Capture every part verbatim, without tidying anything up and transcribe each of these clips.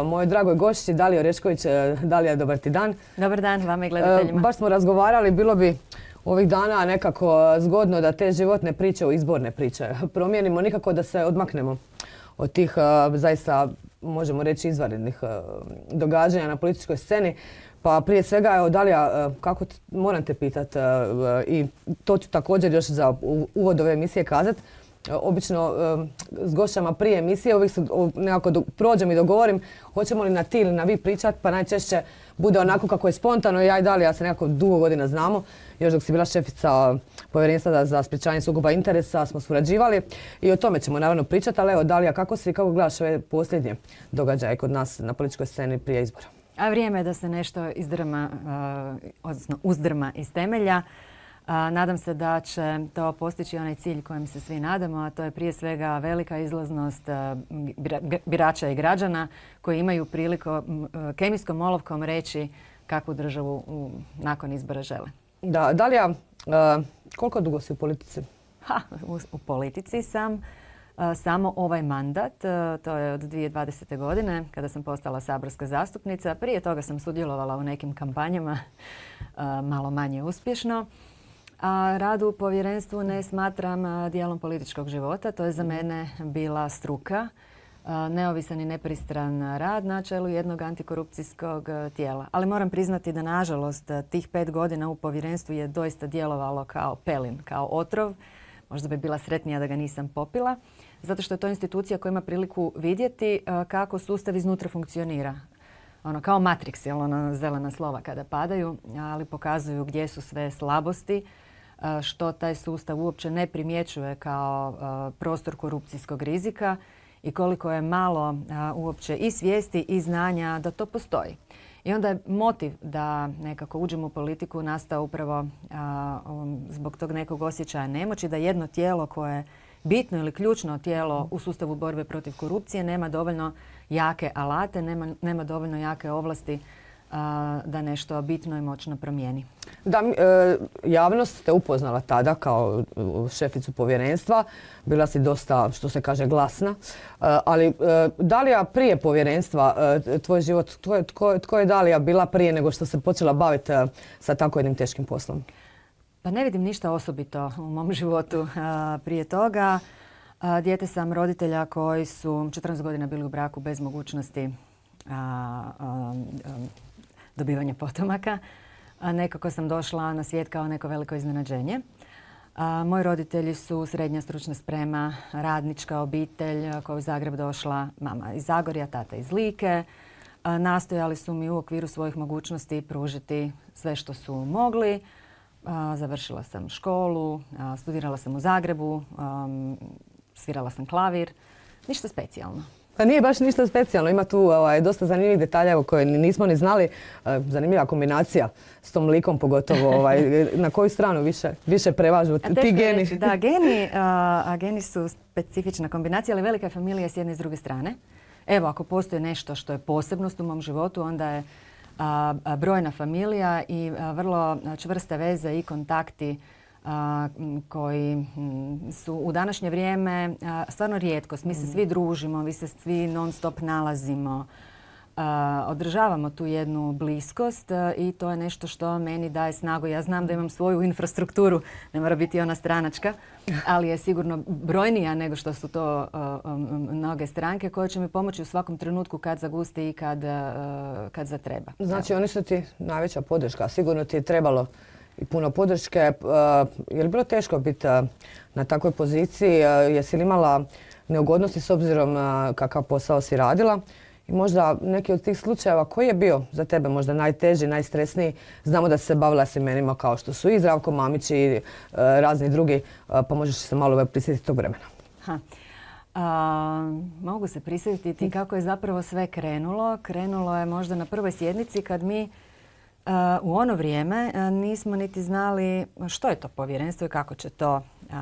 mojoj dragoj gošći Daliji Orešković. Dalija, dobar ti dan. Dobar dan vama i gledateljima. Baš smo razgovarali, bilo bi ovih dana nekako zgodno da te životne priče u izborne priče promijenimo, nikako da se odmaknemo od tih zaista, možemo reći, izvanrednih događanja na političkoj sceni. Pa prije svega, evo Dalija, kako moram te pitati i to ću također još za uvod ove emisije kazati. Obično s gošćama prije emisije uvijek se nekako prođem i dogovorim hoćemo li na ti ili na vi pričati, pa najčešće bude onako kako je spontano. Ja i Dalija se nekako dugo godina znamo. Još dok si bila šefica Povjerenstva za sprječavanje sukoba interesa smo surađivali i o tome ćemo naravno pričati. Ali evo Dalija, kako si, kako gledaš ove posljednje događaje kod nas na političkoj sceni prije izbora? A vrijeme je da se nešto izdrma, odnosno uzdrma iz temelja. Nadam se da će to postići onaj cilj kojem se svi nadamo, a to je prije svega velika izlaznost birača i građana koji imaju priliku kemijskom olovkom reći kakvu državu nakon izbora žele. Da, Dalija, koliko dugo si u politici? Ha, u, u politici sam samo ovaj mandat, to je od dvije tisuće dvadesete. godine kada sam postala saborska zastupnica. Prije toga sam sudjelovala u nekim kampanjama, malo manje uspješno. A rad u povjerenstvu ne smatram dijelom političkog života. To je za mene bila struka, neovisan i nepristran rad na čelu jednog antikorupcijskog tijela. Ali moram priznati da nažalost tih pet godina u povjerenstvu je doista djelovalo kao pelin, kao otrov. Možda bi bila sretnija da ga nisam popila. Zato što je to institucija koja ima priliku vidjeti kako sustav iznutra funkcionira. Ono, kao Matrix, jel, ono, zelena slova kada padaju, ali pokazuju gdje su sve slabosti, što taj sustav uopće ne primjećuje kao prostor korupcijskog rizika i koliko je malo uopće i svijesti i znanja da to postoji. I onda je motiv da nekako uđemo u politiku nastao upravo zbog tog nekog osjećaja nemoći, da jedno tijelo koje je bitno ili ključno tijelo u sustavu borbe protiv korupcije nema dovoljno jake alate, nema, nema dovoljno jake ovlasti a, da nešto bitno i moćno promijeni. Da, e, javnost te upoznala tada kao šeficu povjerenstva. Bila si dosta, što se kaže, glasna. E, ali e, Dalija prije povjerenstva, e, tvoj život, tko, tko, tko je Dalija bila prije nego što se počela baviti e, sa tako jednim teškim poslom? Pa ne vidim ništa osobito u mom životu a, prije toga. A, dijete sam roditelja koji su četrnaest godina bili u braku bez mogućnosti a, a, a, dobivanja potomaka. A, nekako sam došla na svijet kao neko veliko iznenađenje. A, moji roditelji su srednja stručna sprema, radnička obitelj koja je u Zagreb došla, mama iz Zagorja, tata iz Like. A, nastojali su mi u okviru svojih mogućnosti pružiti sve što su mogli. A, završila sam školu, a, studirala sam u Zagrebu, a, svirala sam klavir. Ništa specijalno. Pa nije baš ništa specijalno. Ima tu ovaj, dosta zanimljivih detalja koje nismo ni znali. E, zanimljiva kombinacija s tom likom, pogotovo ovaj, na koju stranu više, više prevažu ti geni. Reći, da, geni, a, a geni su specifična kombinacija, ali velika je familija s jedne i s druge strane. Evo, ako postoji nešto što je posebnost u mom životu, onda je a, a, brojna familija i a, vrlo čvrste veze i kontakti a, koji m, su u današnje vrijeme a, stvarno rijetkost. Mi se svi družimo, mi se svi non stop nalazimo, a, održavamo tu jednu bliskost a, i to je nešto što meni daje snagu. Ja znam da imam svoju infrastrukturu, ne mora biti ona stranačka, ali je sigurno brojnija nego što su to a, a, mnoge stranke koje će mi pomoći u svakom trenutku kad zagusti i kad, a, kad zatreba. Znači, oni su ti najveća podrška. Sigurno ti je trebalo i puno podrške. Je li bilo teško biti na takvoj poziciji? Jesi li imala neugodnosti s obzirom kakav posao si radila? I možda neki od tih slučajeva koji je bio za tebe možda najteži, najstresniji? Znamo da si se bavila s imenima kao što su i Zdravko Mamić i razni drugi, pa možeš se malo prisjetiti tog vremena. Ha. A, mogu se prisjetiti kako je zapravo sve krenulo. Krenulo je možda na prvoj sjednici kad mi Uh, u ono vrijeme uh, nismo niti znali što je to povjerenstvo i kako će to uh,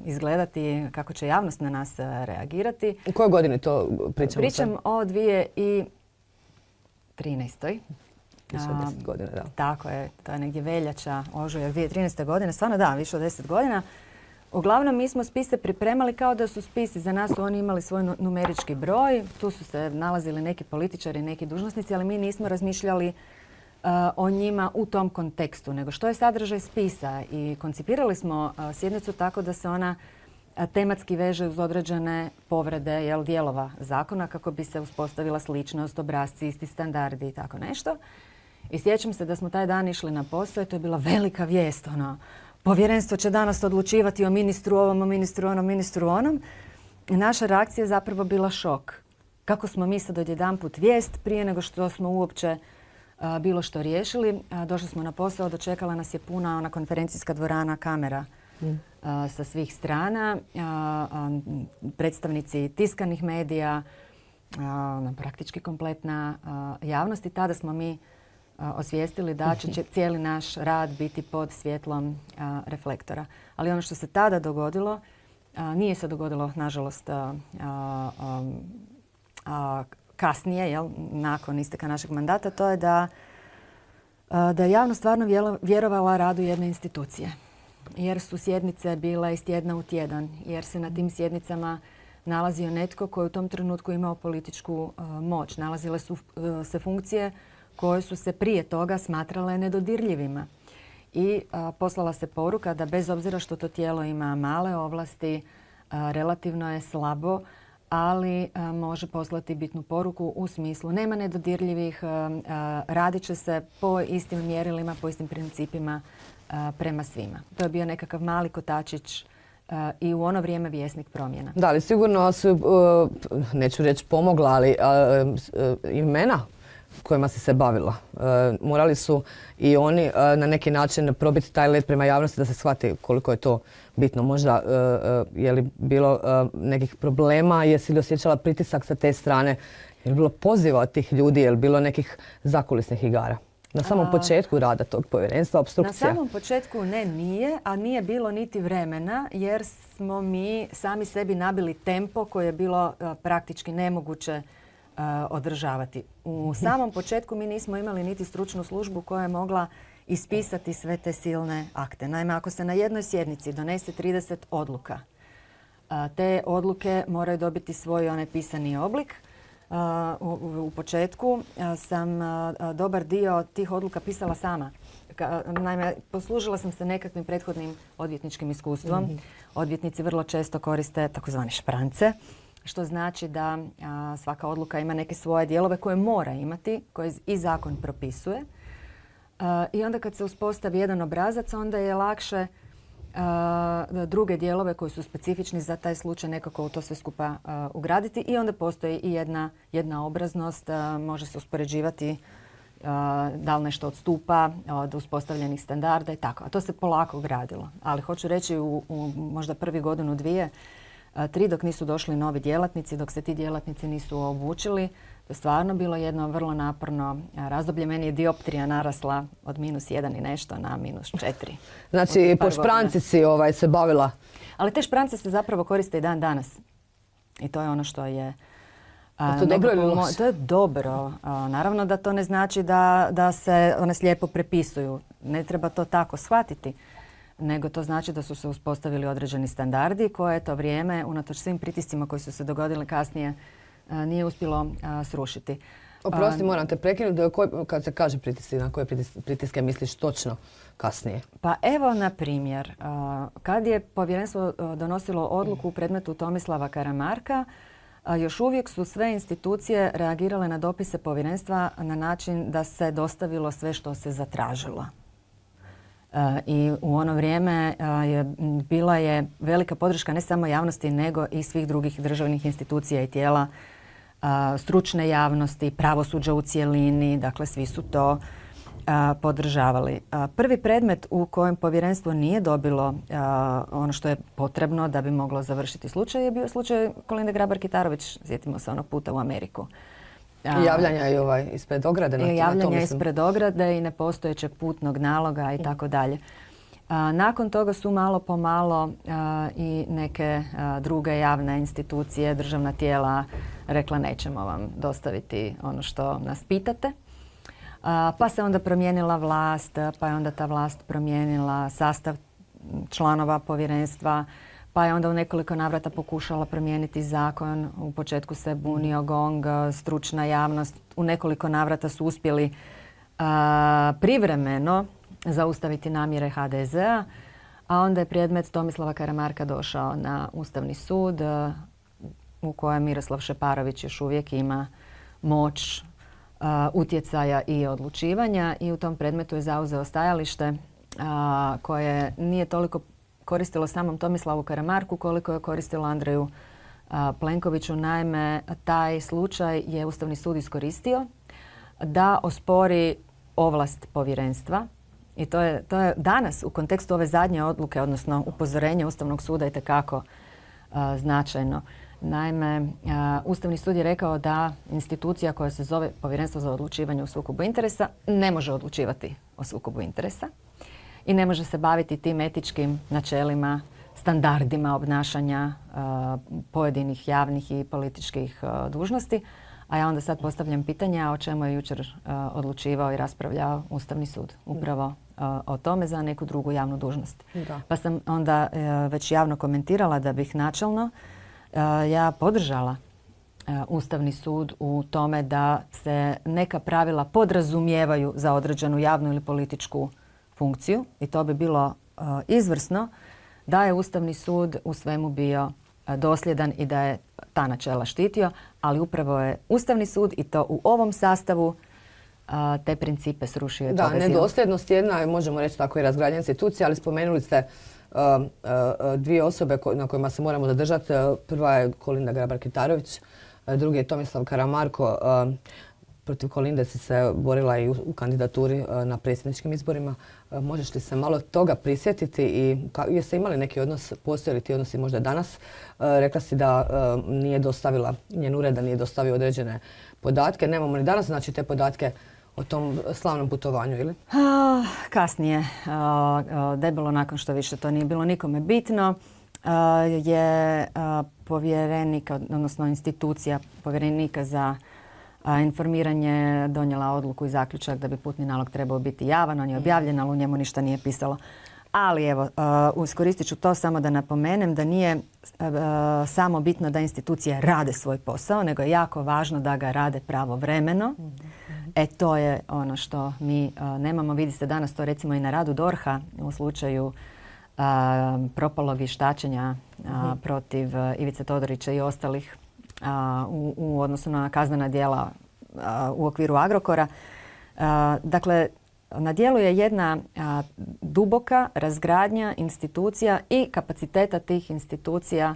izgledati, kako će javnost na nas uh, reagirati. U kojoj godini to pričamo? Pričam sad? O dvije tisuće trinaestoj. Više od deset godina, da. Tako je, to je negdje veljača, ožujak dvije tisuće trinaeste. godine. Stvarno da, više od deset godina. Uglavnom, mi smo spise pripremali kao da su spisi. Za nas su oni imali svoj numerički broj. Tu su se nalazili neki političari, neki dužnosnici, ali mi nismo razmišljali uh, o njima u tom kontekstu, nego što je sadržaj spisa. I koncipirali smo uh, sjednicu tako da se ona uh, tematski veže uz određene povrede, jel, dijelova zakona kako bi se uspostavila sličnost, obrasci, isti standardi i tako nešto. I sjećam se da smo taj dan išli na posao i to je bila velika vijest, ono, povjerenstvo će danas odlučivati o ministru ovom, o ministru onom, ministru onom. I naša reakcija je zapravo bila šok. Kako smo mi sad odjedanput vijest prije nego što smo uopće a, bilo što riješili. A, došli smo na posao, dočekala nas je puna ona konferencijska dvorana kamera mm. a, sa svih strana. A, a, predstavnici tiskanih medija, a, praktički kompletna a, javnost. I tada smo mi osvijestili da će cijeli naš rad biti pod svjetlom a, reflektora. Ali ono što se tada dogodilo, a, nije se dogodilo, nažalost, a, a, a, kasnije, jel, nakon isteka našeg mandata, to je da, a, da je javnost stvarno vjerovala radu jedne institucije. Jer su sjednice bile iz tjedna u tjedan, jer se na tim sjednicama nalazio netko koji u tom trenutku imao političku a, moć. Nalazile su a, se funkcije koje su se prije toga smatrale nedodirljivima. I a, poslala se poruka da bez obzira što to tijelo ima male ovlasti, a, relativno je slabo, ali a, može poslati bitnu poruku u smislu nema nedodirljivih, a, a, radit će se po istim mjerilima, po istim principima a, prema svima. To je bio nekakav mali kotačić a, i u ono vrijeme vjesnik promjena. Da, ali sigurno su, uh, neću reći pomogla, ali uh, uh, imena kojima si se bavila. E, morali su i oni e, na neki način probiti taj led prema javnosti da se shvati koliko je to bitno. Možda e, e, je li bilo e, nekih problema, jesi li osjećala pritisak sa te strane, je li bilo poziva od tih ljudi, je li bilo nekih zakulisnih igara? Na samom a, početku rada tog povjerenstva, opstrukcija? Na samom početku ne, nije, a nije bilo niti vremena jer smo mi sami sebi nabili tempo koje je bilo a, praktički nemoguće Uh, održavati. U samom početku mi nismo imali niti stručnu službu koja je mogla ispisati sve te silne akte. Naime, ako se na jednoj sjednici donese trideset odluka, uh, te odluke moraju dobiti svoj onaj pisani oblik. Uh, u, u početku uh, sam uh, dobar dio tih odluka pisala sama. Ka, naime, poslužila sam se nekakvim prethodnim odvjetničkim iskustvom. Mm-hmm. Odvjetnici vrlo često koriste takozvane šprance, što znači da a, svaka odluka ima neke svoje dijelove koje mora imati, koje i zakon propisuje. A, I onda kad se uspostavi jedan obrazac, onda je lakše a, druge dijelove koji su specifični za taj slučaj nekako u to sve skupa a, ugraditi. I onda postoji i jedna, jedna obraznost, a, može se uspoređivati a, da li nešto odstupa od uspostavljenih standarda i tako. A to se polako gradilo. Ali hoću reći u, u možda prvi godinu, dvije, tri dok nisu došli novi djelatnici, dok se ti djelatnici nisu obučili. To je stvarno bilo jedno vrlo naporno razdoblje. Meni je dioptrija narasla od minus jedan i nešto na minus četiri. Znači, po špranci si ovaj, se bavila? Ali te šprance se zapravo koriste i dan danas. I to je ono što je... A, to, dobro ili loše? To je dobro. A, naravno da to ne znači da, da se one slijepo prepisuju. Ne treba to tako shvatiti. Nego to znači da su se uspostavili određeni standardi koje to vrijeme, unatoč svim pritiscima koji su se dogodili kasnije, nije uspjelo srušiti. Oprosti, moram te prekinuti. Kad se kaže pritisci, na koje pritiske misliš točno kasnije? Pa evo, na primjer, kad je povjerenstvo donosilo odluku u predmetu Tomislava Karamarka, još uvijek su sve institucije reagirale na dopise povjerenstva na način da se dostavilo sve što se zatražilo. I u ono vrijeme je, bila je velika podrška ne samo javnosti nego i svih drugih državnih institucija i tijela, stručne javnosti, pravosuđa u cjelini, dakle svi su to podržavali. Prvi predmet u kojem povjerenstvo nije dobilo ono što je potrebno da bi moglo završiti slučaj je bio slučaj Kolinde Grabar-Kitarović, sjetimo se onog puta u Ameriku. I javljanja i ovaj ispred ograde. I javljanja ispred ograde i nepostojećeg putnog naloga i tako dalje. Nakon toga su malo po malo a, i neke a, druge javne institucije, državna tijela rekla nećemo vam dostaviti ono što nas pitate. A, pa se onda promijenila vlast, pa je onda ta vlast promijenila sastav članova povjerenstva, pa je onda u nekoliko navrata pokušala promijeniti zakon. U početku se bunio GONG, stručna javnost. U nekoliko navrata su uspjeli a, privremeno zaustaviti namjere ha de zea, a onda je predmet Tomislava Karamarka došao na Ustavni sud a, u kojem Miroslav Šeparović još uvijek ima moć a, utjecaja i odlučivanja i u tom predmetu je zauzeo stajalište a, koje nije toliko koristilo samom Tomislavu Karamarku koliko je koristilo Andreju a, Plenkoviću. Naime, taj slučaj je Ustavni sud iskoristio da ospori ovlast povjerenstva i to je, to je danas u kontekstu ove zadnje odluke, odnosno upozorenja Ustavnog suda itekako a, značajno. Naime, a, Ustavni sud je rekao da institucija koja se zove Povjerenstvo za odlučivanje u sukobu interesa ne može odlučivati o sukobu interesa i ne može se baviti tim etičkim načelima, standardima obnašanja a, pojedinih javnih i političkih a, dužnosti. A ja onda sad postavljam pitanja o čemu je jučer a, odlučivao i raspravljao Ustavni sud. Upravo a, o tome za neku drugu javnu dužnost. Da. Pa sam onda a, već javno komentirala da bih načelno a, ja podržala a, Ustavni sud u tome da se neka pravila podrazumijevaju za određenu javnu ili političku funkciju i to bi bilo uh, izvrsno da je Ustavni sud u svemu bio uh, dosljedan i da je ta načela štitio, ali upravo je Ustavni sud i to u ovom sastavu uh, te principe srušio i Da, pogazio. nedosljednost jedna je, možemo reći tako, i razgradnja institucija, ali spomenuli ste uh, uh, dvije osobe ko, na kojima se moramo zadržati. Uh, prva je Kolinda Grabar-Kitarović, uh, drugi je Tomislav Karamarko. Uh, Protiv Kolinde si se borila i u, u kandidaturi uh, na predsjedničkim izborima. Uh, možeš li se malo toga prisjetiti i ka, jeste imali neki odnos, postoje li ti odnosi možda danas? Uh, rekla si da uh, nije dostavila, njen ured da nije dostavio određene podatke. Nemamo ni danas znači te podatke o tom slavnom putovanju, ili? Uh, kasnije, uh, uh, debelo nakon što više to nije bilo nikome bitno, uh, je uh, povjerenik, odnosno institucija povjerenika za A, informiranje donijela odluku i zaključak da bi putni nalog trebao biti javan. On je objavljen, ali u njemu ništa nije pisalo. Ali evo, uh, iskoristit ću to samo da napomenem da nije uh, samo bitno da institucije rade svoj posao, nego je jako važno da ga rade pravovremeno. Mm-hmm. E to je ono što mi uh, nemamo. Vidi se danas to recimo i na radu DORH-a u slučaju uh, propalog vještačenja uh, mm-hmm. protiv uh, Ivice Todorića i ostalih A, u, u odnosu na kaznena djela a, u okviru Agrokora. A, dakle, na djelu je jedna a, duboka razgradnja institucija i kapaciteta tih institucija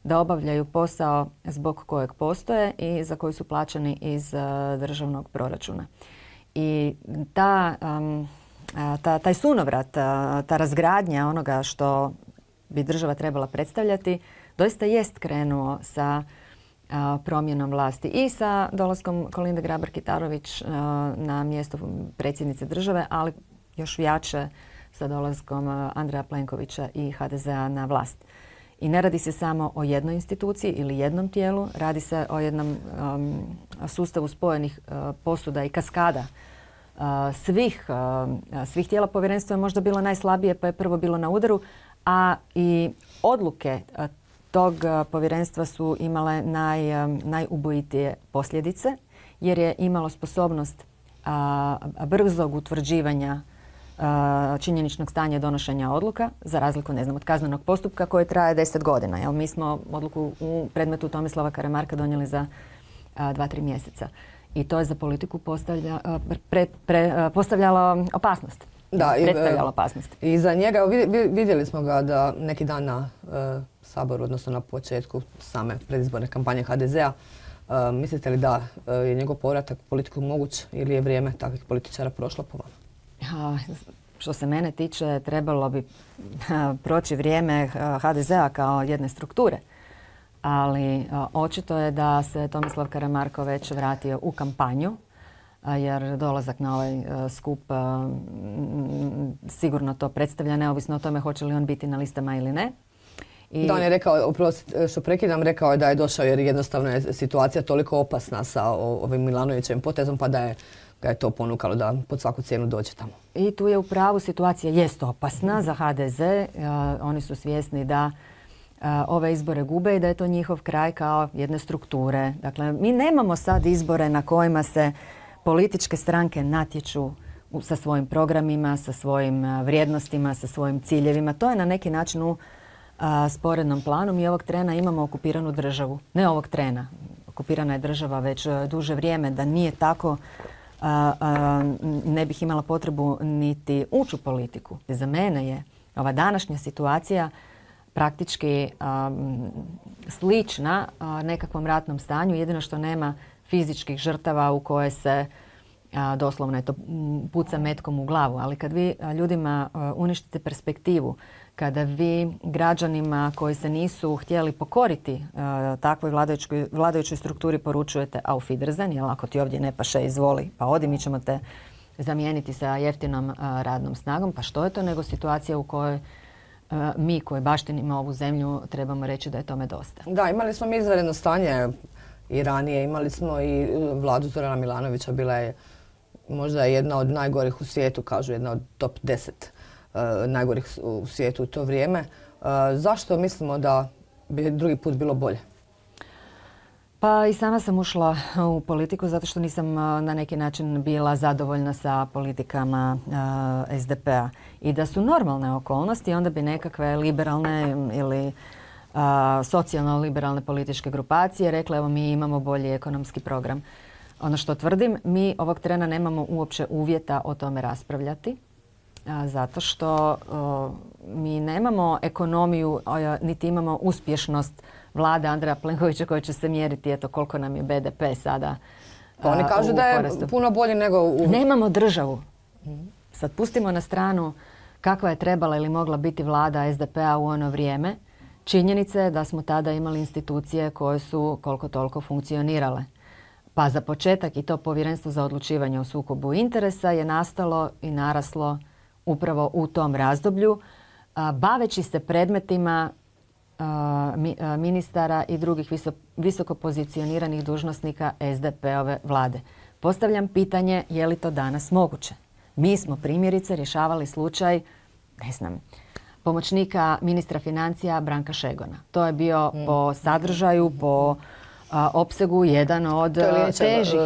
da obavljaju posao zbog kojeg postoje i za koji su plaćeni iz a, državnog proračuna. I ta, um, a, ta, taj sunovrat, a, ta razgradnja onoga što bi država trebala predstavljati doista jest krenuo sa promjenom vlasti i sa dolaskom Kolinde Grabar-Kitarović na mjesto predsjednice države, ali još jače sa dolaskom Andreja Plenkovića i ha de zea na vlast. I ne radi se samo o jednoj instituciji ili jednom tijelu, radi se o jednom um, sustavu spojenih uh, posuda i kaskada uh, svih, uh, svih tijela. Povjerenstvo je možda bilo najslabije pa je prvo bilo na udaru, a i odluke uh, tog povjerenstva su imale naj, najubojitije posljedice jer je imalo sposobnost a, brzog utvrđivanja a, činjeničnog stanja donošenja odluka za razliku ne znam, od kaznenog postupka koji traje deset godina. Jel, mi smo odluku u predmetu Tomislava Karamarka donijeli za a, dva, tri mjeseca i to je za politiku postavlja, a, pre, pre, a, postavljalo opasnost. Da, predstavljalo opasnost. I za njega vidjeli smo ga da neki dan na uh, Saboru, odnosno na početku same predizborne kampanje ha de zea. Uh, mislite li da uh, je njegov povratak u politiku moguć ili je vrijeme takvih političara prošlo po vama? Uh, što se mene tiče, trebalo bi uh, proći vrijeme ha de zea kao jedne strukture. Ali uh, očito je da se Tomislav Karamarko već vratio u kampanju, jer dolazak na ovaj skup sigurno to predstavlja, neovisno o tome hoće li on biti na listama ili ne. I da, on je rekao, oprosti što prekidam, rekao je da je došao jer jednostavno je situacija toliko opasna sa ovim Milanovićevim potezom pa da je ga je to ponukalo da pod svaku cijenu dođe tamo. I tu je u pravu, situacija jest opasna za ha de ze. Oni su svjesni da ove izbore gube i da je to njihov kraj kao jedne strukture. Dakle, mi nemamo sad izbore na kojima se političke stranke natječu sa svojim programima, sa svojim vrijednostima, sa svojim ciljevima. To je na neki način u a, sporednom planu. Mi ovog trena imamo okupiranu državu. Ne ovog trena. Okupirana je država već duže vrijeme. Da nije tako, a, a, ne bih imala potrebu niti ući u politiku. Za mene je ova današnja situacija praktički a, slična a, nekakvom ratnom stanju. Jedino što nema fizičkih žrtava u koje se a, doslovno je to puca metkom u glavu. Ali kad vi a, ljudima a, uništite perspektivu, kada vi građanima koji se nisu htjeli pokoriti a, takvoj vladajućoj, vladajućoj strukturi poručujete auf Wiedersehen, jer ako ti ovdje ne paše, izvoli, pa odi, mi ćemo te zamijeniti sa jeftinom a, radnom snagom. Pa što je to nego situacija u kojoj a, mi koji baštinimo ovu zemlju trebamo reći da je tome dosta. Da, imali smo mi izvanredno stanje i ranije. Imali smo i vladu Zorana Milanovića, bila je možda jedna od najgorih u svijetu, kažu jedna od top deset uh, najgorih u svijetu u to vrijeme. Uh, zašto mislimo da bi drugi put bilo bolje? Pa i sama sam ušla u politiku zato što nisam na neki način bila zadovoljna sa politikama uh, es de pe-a. I da su normalne okolnosti, onda bi nekakve liberalne ili uh, socijalno-liberalne političke grupacije rekle evo mi imamo bolji ekonomski program. Ono što tvrdim, mi ovog trena nemamo uopće uvjeta o tome raspravljati, a, zato što o, mi nemamo ekonomiju, a, niti imamo uspješnost vlade Andreja Plenkovića koja će se mjeriti eto koliko nam je be de pe sada. Pa oni kažu da je porastu. Puno bolje nego u... Nemamo državu. Sad pustimo na stranu kakva je trebala ili mogla biti vlada es de pe-a u ono vrijeme. Činjenica je da smo tada imali institucije koje su koliko toliko funkcionirale. Pa za početak i to povjerenstvo za odlučivanje o sukobu interesa je nastalo i naraslo upravo u tom razdoblju, a, baveći se predmetima a, mi, a, ministara i drugih viso, visoko pozicioniranih dužnosnika es de pe-ove vlade. Postavljam pitanje je li to danas moguće? Mi smo primjerice rješavali slučaj, ne znam, pomoćnika ministra financija Branka Šegona. To je bio mm. po sadržaju, po A, opsegu jedan od težih.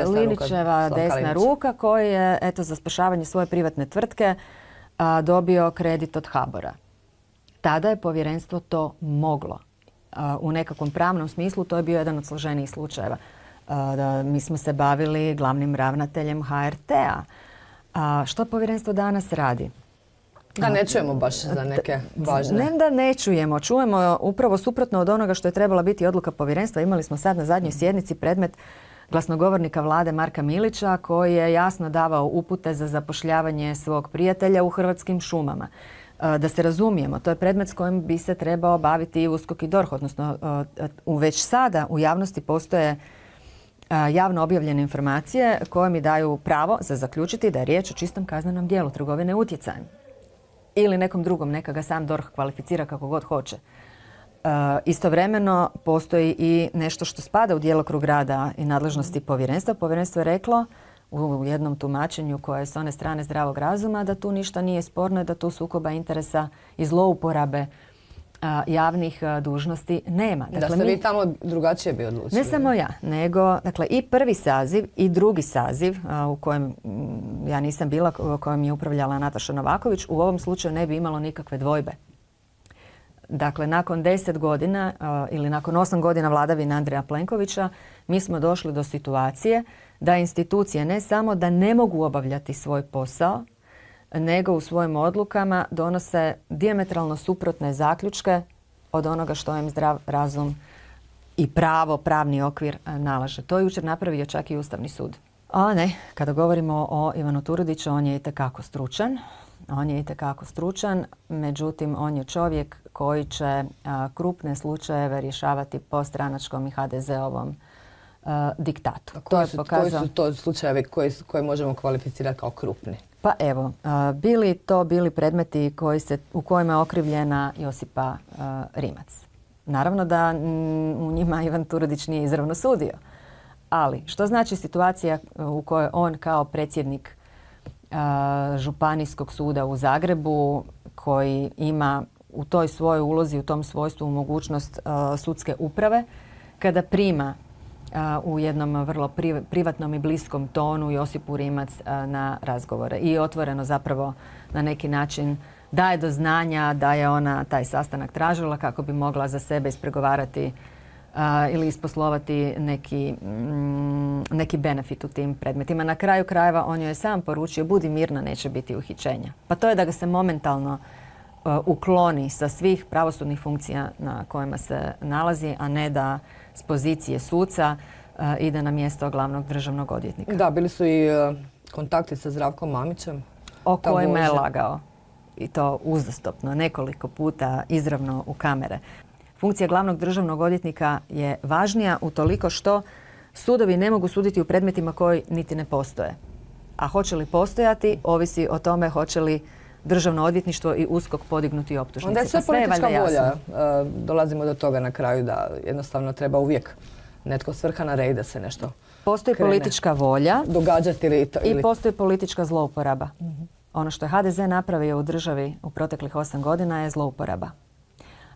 Linićeva desna ruka koji je eto, za spašavanje svoje privatne tvrtke a, dobio kredit od HABOR-a. Tada je povjerenstvo to moglo. A, u nekakvom pravnom smislu to je bio jedan od složenijih slučajeva. A, da, mi smo se bavili glavnim ravnateljem ha er te-a. A, što povjerenstvo danas radi? Da ne čujemo baš za neke važne. Ne da ne čujemo, čujemo upravo suprotno od onoga što je trebala biti odluka povjerenstva. Imali smo sad na zadnjoj sjednici predmet glasnogovornika vlade Marka Milića koji je jasno davao upute za zapošljavanje svog prijatelja u Hrvatskim šumama. Da se razumijemo, to je predmet s kojim bi se trebao baviti i USKOK i DORH, odnosno već sada u javnosti postoje javno objavljene informacije koje mi daju pravo za zaključiti da je riječ o čistom kaznenom djelu trgovine utjecajem. Ili nekom drugom, neka ga sam DORH kvalificira kako god hoće. E, istovremeno postoji i nešto što spada u djelokrug rada i nadležnosti povjerenstva. Povjerenstvo je reklo u jednom tumačenju koje je s one strane zdravog razuma da tu ništa nije sporno i da tu sukoba interesa i zlouporabe a, javnih a, dužnosti nema. Dakle, da ste mi, vi tamo drugačije bi odlučili. Ne samo ja, nego dakle, i prvi saziv i drugi saziv a, u kojem m, ja nisam bila, u kojem je upravljala Nataša Novaković, u ovom slučaju ne bi imalo nikakve dvojbe. Dakle, nakon deset godina a, ili nakon osam godina vladavine Andreja Plenkovića mi smo došli do situacije da institucije ne samo da ne mogu obavljati svoj posao, nego u svojim odlukama donose dijametralno suprotne zaključke od onoga što im zdrav razum i pravo, pravni okvir nalaže. To je jučer napravio čak i Ustavni sud. A ne, kada govorimo o Ivanu Turudiću, on je itekako stručan. On je itekako stručan, međutim on je čovjek koji će a, krupne slučajeve rješavati po stranačkom i ha de ze-ovom a, diktatu. Koji, to je su, pokazao... koji su to slučajevi koje, koje možemo kvalificirati kao krupni? Pa evo, a, bili to bili predmeti koji se, u kojima je okrivljena Josipa a, Rimac. Naravno da m, u njima Ivan Turudić nije izravno sudio, Ali, što znači situacija u kojoj on kao predsjednik Županijskog suda u Zagrebu, koji ima u toj svojoj ulozi, u tom svojstvu mogućnost sudske uprave, kada prima u jednom vrlo privatnom i bliskom tonu Josipu Rimac na razgovore i otvoreno zapravo na neki način daje do znanja da je ona taj sastanak tražila kako bi mogla za sebe ispregovarati ili isposlovati neki, neki benefit u tim predmetima. Na kraju krajeva on joj je sam poručio budi mirna, neće biti uhićenja. Pa to je da ga se momentalno ukloni sa svih pravosudnih funkcija na kojima se nalazi, a ne da s pozicije suca ide na mjesto glavnog državnog odvjetnika. Da, bili su i kontakti sa Zdravkom Mamićem. O kojima je lagao. I to uzastopno, nekoliko puta izravno u kamere. Funkcija glavnog državnog odvjetnika je važnija utoliko što sudovi ne mogu suditi u predmetima koji niti ne postoje. A hoće li postojati, ovisi o tome hoće li Državno odvjetništvo i USKOK podignuti optužnice. Onda je sve politička volja. Dolazimo do toga na kraju da jednostavno treba uvijek netko svrha na rej da se nešto Postoji politička volja događati ili, ili... i postoji politička zlouporaba. Mm-hmm. Ono što je ha de ze napravio u državi u proteklih osam godina je zlouporaba.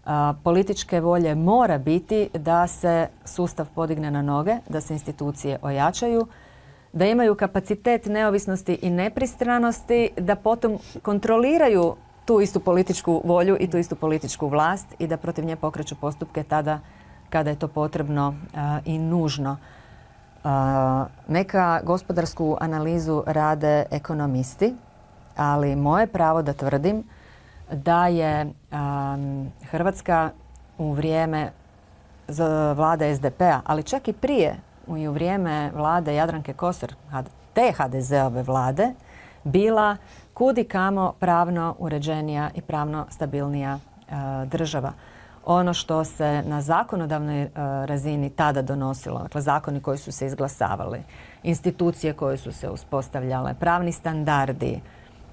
A, političke volje mora biti da se sustav podigne na noge, da se institucije ojačaju, da imaju kapacitet neovisnosti i nepristranosti, da potom kontroliraju tu istu političku volju i tu istu političku vlast i da protiv nje pokreću postupke tada kada je to potrebno a, i nužno. A, neka gospodarsku analizu rade ekonomisti, ali moje pravo da tvrdim da je um, Hrvatska u vrijeme vlade es de pe-a, ali čak i prije i u vrijeme vlade Jadranke Kosor, te ha de ze-ove vlade, bila kud i kamo pravno uređenija i pravno stabilnija uh, država. Ono što se na zakonodavnoj uh, razini tada donosilo, dakle zakoni koji su se izglasavali, institucije koje su se uspostavljale, pravni standardi,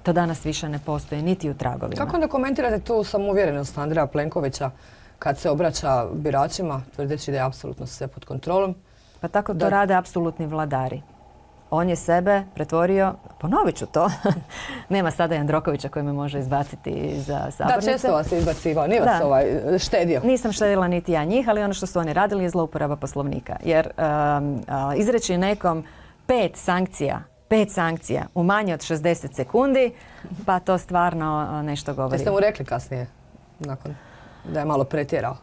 to danas više ne postoji niti u tragovima. Kako onda komentirate tu samouvjerenost Andreja Plenkovića kad se obraća biračima, tvrdeći da je apsolutno sve pod kontrolom? Pa tako to da... rade apsolutni vladari. On je sebe pretvorio, ponovit ću to, nema sada Jandrokovića koji me može izbaciti za sabornice. Da, često vas je izbacivao, nije vas ovaj štedio. Nisam štedila niti ja njih, ali ono što su oni radili je zlouporaba Poslovnika. Jer um, uh, izreći nekom pet sankcija Pet sankcija u manje od šezdeset sekundi, pa to stvarno nešto govori. Jeste mu rekli kasnije, nakon da je malo pretjerao?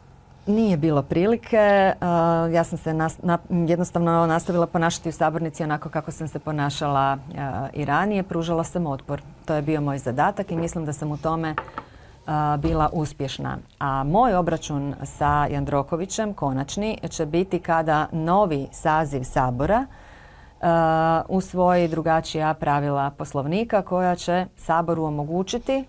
Nije bilo prilike. Uh, ja sam se nas, na, jednostavno nastavila ponašati u sabornici onako kako sam se ponašala uh, i ranije. Pružala sam otpor. To je bio moj zadatak i mislim da sam u tome uh, bila uspješna. A moj obračun sa Jandrokovićem, konačni, će biti kada novi saziv Sabora Uh, usvoji drugačija pravila Poslovnika koja će Saboru omogućiti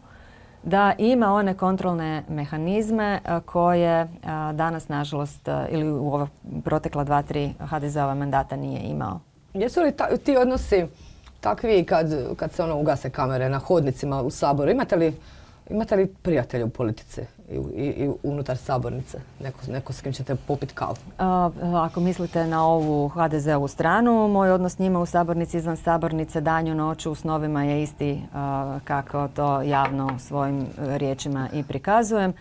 da ima one kontrolne mehanizme uh, koje uh, danas, nažalost, uh, ili u ova protekla dva, tri ha de ze-ova mandata nije imao. Jesu li ta, ti odnosi takvi kad, kad se ono ugase kamere na hodnicima u Saboru? Imate li, imate li prijatelja u politici i, i, i unutar sabornice? Neko, neko s kim ćete popiti kavu? Uh, ako mislite na ovu ha de ze-ovu stranu, moj odnos s njima u sabornici, izvan sabornice, danju, noću, u snovima je isti uh, kako to javno svojim riječima i prikazujem.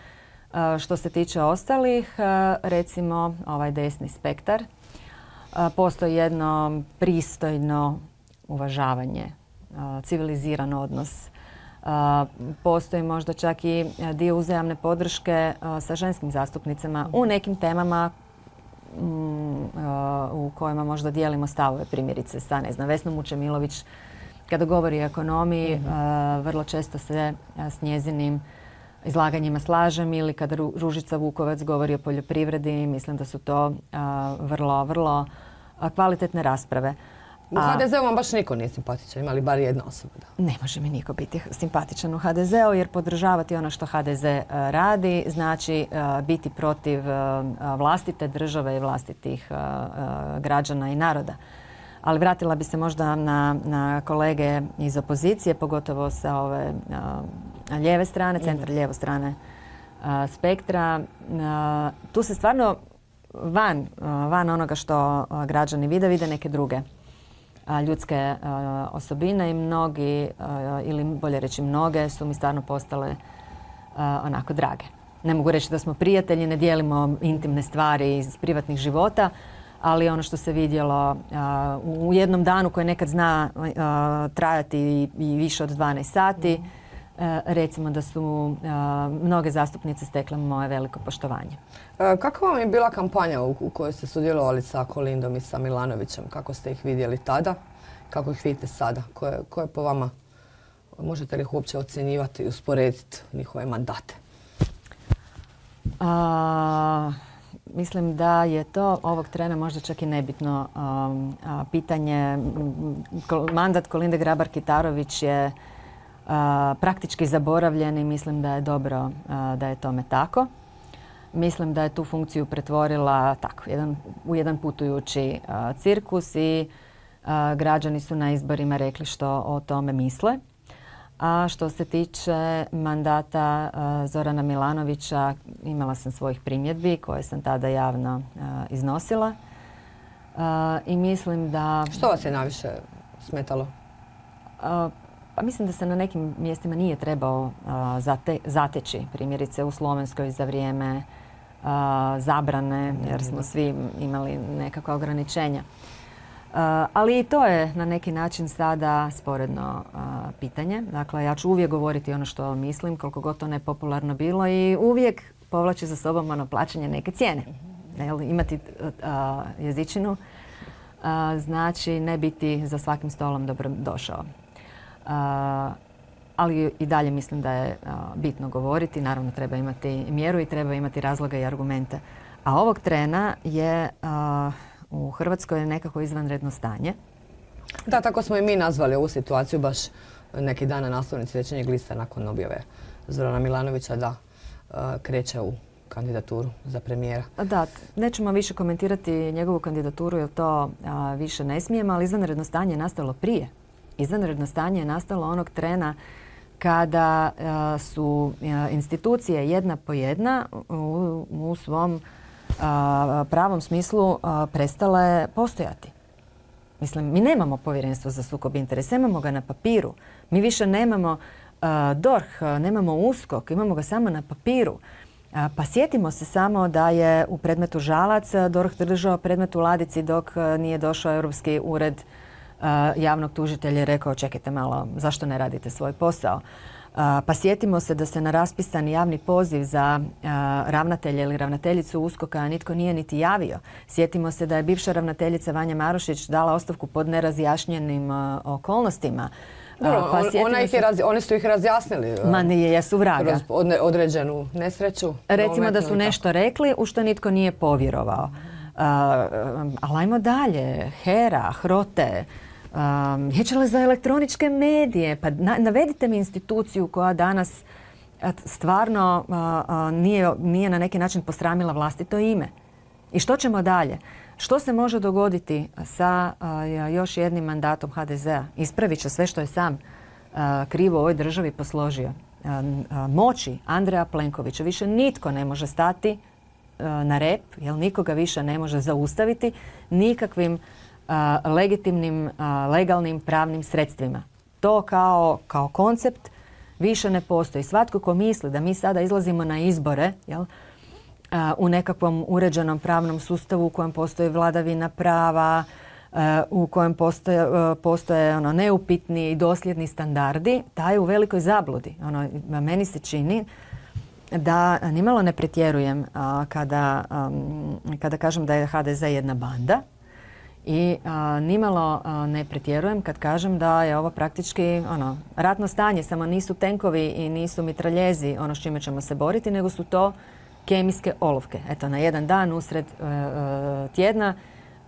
Uh, što se tiče ostalih, uh, recimo ovaj desni spektar, uh, postoji jedno pristojno uvažavanje, uh, civiliziran odnos. Uh, postoji možda čak i dio uzajamne podrške uh, sa ženskim zastupnicama u nekim temama um, uh, u kojima možda dijelimo stavove, primjerice sa, ne znam, Vesnom Vučemilović kada govori o ekonomiji, uh, vrlo često se uh, s njezinim izlaganjima slažem, ili kada Ru- Ružica Vukovac govori o poljoprivredi, mislim da su to uh, vrlo, vrlo uh, kvalitetne rasprave. U ha de ze-u vam baš niko nije simpatičan, ima li bar jedna osoba? Da? Ne može mi niko biti simpatičan u ha de ze-u, jer podržavati ono što ha de ze radi znači uh, biti protiv uh, vlastite države i vlastitih uh, uh, građana i naroda. Ali vratila bi se možda na, na kolege iz opozicije, pogotovo sa ove uh, lijeve strane, centar lijevo strane uh, spektra. Uh, tu se stvarno van, van onoga što građani vide, vide neke druge ljudske osobine i mnogi, ili bolje reći mnoge, su mi stvarno postale onako drage. Ne mogu reći da smo prijatelji, ne dijelimo intimne stvari iz privatnih života, ali ono što se vidjelo uh, u jednom danu koji nekad zna uh, trajati i, i više od dvanaest sati, uh, recimo da su uh, mnoge zastupnice stekle moje veliko poštovanje. E, kakva vam je bila kampanja u, u kojoj ste sudjelovali sa Kolindom i sa Milanovićem? Kako ste ih vidjeli tada? Kako ih vidite sada? Ko je, ko je po vama, možete li ih uopće ocjenjivati i usporediti njihove mandate? Uh, Mislim da je to ovog trena možda čak i nebitno um, a, pitanje. Mandat Kolinde Grabar-Kitarović je a, praktički zaboravljen i mislim da je dobro a, da je tome tako. Mislim da je tu funkciju pretvorila tako, jedan, u jedan putujući a, cirkus i a, građani su na izborima rekli što o tome misle. A što se tiče mandata uh, Zorana Milanovića, imala sam svojih primjedbi koje sam tada javno uh, iznosila. Uh, I mislim da... Što vas je najviše smetalo? Uh, pa mislim da se na nekim mjestima nije trebao uh, zate, zateći. Primjerice u Slovenskoj za vrijeme uh, zabrane, jer smo svi imali nekakva ograničenja. Uh, ali i to je na neki način sada sporedno uh, pitanje. Dakle, ja ću uvijek govoriti ono što mislim, koliko god to nepopularno bilo i uvijek povlači za sobom ono plaćanje neke cijene. Jel, imati uh, jezičinu uh, znači ne biti za svakim stolom dobro došao. Uh, ali i dalje mislim da je uh, bitno govoriti. Naravno, treba imati mjeru i treba imati razloge i argumente. A ovog trena je... Uh, U Hrvatskoj je nekako izvanredno stanje. Da, tako smo i mi nazvali ovu situaciju baš neki dan na naslovnici Večernjeg lista nakon objave Zorana Milanovića da uh, kreće u kandidaturu za premijera. Da, nećemo više komentirati njegovu kandidaturu jer to uh, više ne smijemo, ali izvanredno stanje je nastalo prije. Izvanredno stanje je nastalo onog trena kada uh, su uh, institucije jedna po jedna u, u svom A, pravom smislu a, prestale postojati. Mislim, mi nemamo povjerenstvo za sukob interesa, imamo ga na papiru. Mi više nemamo a, D O R H, nemamo USKOK, imamo ga samo na papiru. A, pa sjetimo se samo da je u predmetu Žalac D O R H držao predmet u ladici dok a, nije došao Europski ured a, javnog tužitelja i rekao čekajte malo, zašto ne radite svoj posao? Uh, pa sjetimo se da se na raspisani javni poziv za uh, ravnatelja ili ravnateljicu USKOK-a nitko nije niti javio. Sjetimo se da je bivša ravnateljica Vanja Marušić dala ostavku pod nerazjašnjenim uh, okolnostima. Dobro, uh, pa on, ona ih je raz, oni su ih razjasnili. Uh, Ma nije, jesu vraga. Kroz određenu nesreću. Recimo da su nešto rekli u što nitko nije povjerovao. Uh, ali ajmo dalje. HERA, HROTE, Um, Vijeće za elektroničke medije. Pa na, navedite mi instituciju koja danas stvarno uh, uh, nije, nije na neki način posramila vlastito ime. I što ćemo dalje? Što se može dogoditi sa uh, još jednim mandatom H D Z-a? Ispravit će sve što je sam uh, krivo u ovoj državi posložio. Uh, uh, moći Andreja Plenkovića više nitko ne može stati uh, na rep, jer nikoga više ne može zaustaviti nikakvim Uh, legitimnim, uh, legalnim pravnim sredstvima. To kao, kao koncept više ne postoji. Svatko ko misli da mi sada izlazimo na izbore jel, uh, u nekakvom uređenom pravnom sustavu u kojem postoji vladavina prava, uh, u kojem postoje, uh, postoje ono, neupitni i dosljedni standardi, taj je u velikoj zabludi. Ono, meni se čini da nimalo ne pretjerujem uh, kada, um, kada kažem da je H D Z jedna banda. I a, nimalo a, ne pretjerujem kad kažem da je ovo praktički ono, ratno stanje, samo nisu tenkovi i nisu mitraljezi ono s čime ćemo se boriti, nego su to kemijske olovke. Eto, na jedan dan usred e, e, tjedna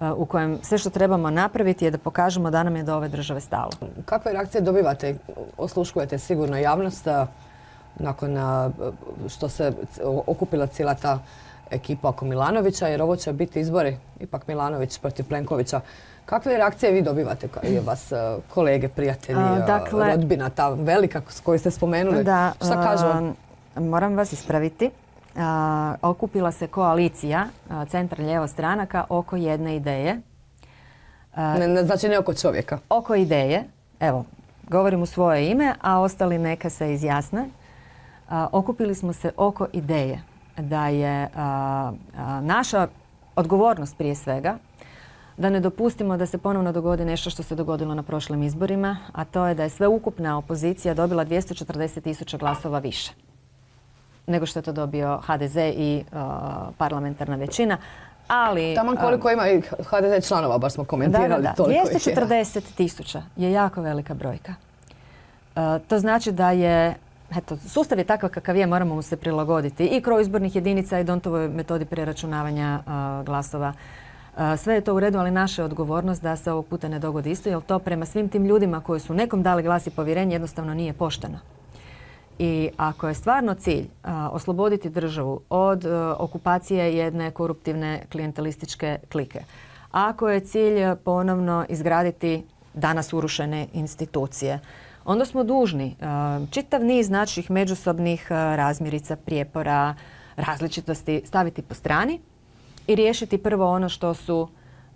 e, u kojem sve što trebamo napraviti je da pokažemo da nam je do ove države stalo. Kakve reakcije dobivate? Osluškujete sigurno javnost a, nakon a, što se okupila cijela ta ekipa oko Milanovića, jer ovo će biti izbori, ipak Milanović protiv Plenkovića. Kakve reakcije vi dobivate, vas kolege, prijatelji, A, dakle, rodbina, ta velika s koju ste spomenuli? Da, šta kažu? Moram vas ispraviti. okupila se koalicija centar-lijevo stranaka oko jedne ideje. Ne, ne, znači ne oko čovjeka. Oko ideje, evo, govorim u svoje ime, a ostali neka se izjasne. A, okupili smo se oko ideje da je a, a, naša odgovornost prije svega da ne dopustimo da se ponovno dogodi nešto što se dogodilo na prošlim izborima, a to je da je sveukupna opozicija dobila dvjesto četrdeset tisuća glasova više nego što je to dobio ha de ze i a, parlamentarna većina. Ali, taman koliko ima i ha de ze članova, baš smo komentirali. Da, da, da. toliko dvjesto četrdeset tisuća je jako velika brojka. Uh, to znači da je, eto, sustav je takav kakav je, moramo mu se prilagoditi i kroz izbornih jedinica i Dontovoj metodi preračunavanja uh, glasova. Uh, sve je to u redu, ali naša je odgovornost da se ovog puta ne dogodi isto, jer to prema svim tim ljudima koji su nekom dali glas i povjerenje jednostavno nije pošteno. I ako je stvarno cilj a, osloboditi državu od a, okupacije jedne koruptivne klijentelističke klike, ako je cilj ponovno izgraditi danas urušene institucije, onda smo dužni a, čitav niz naših međusobnih a, razmirica, prijepora, različitosti staviti po strani i riješiti prvo ono što su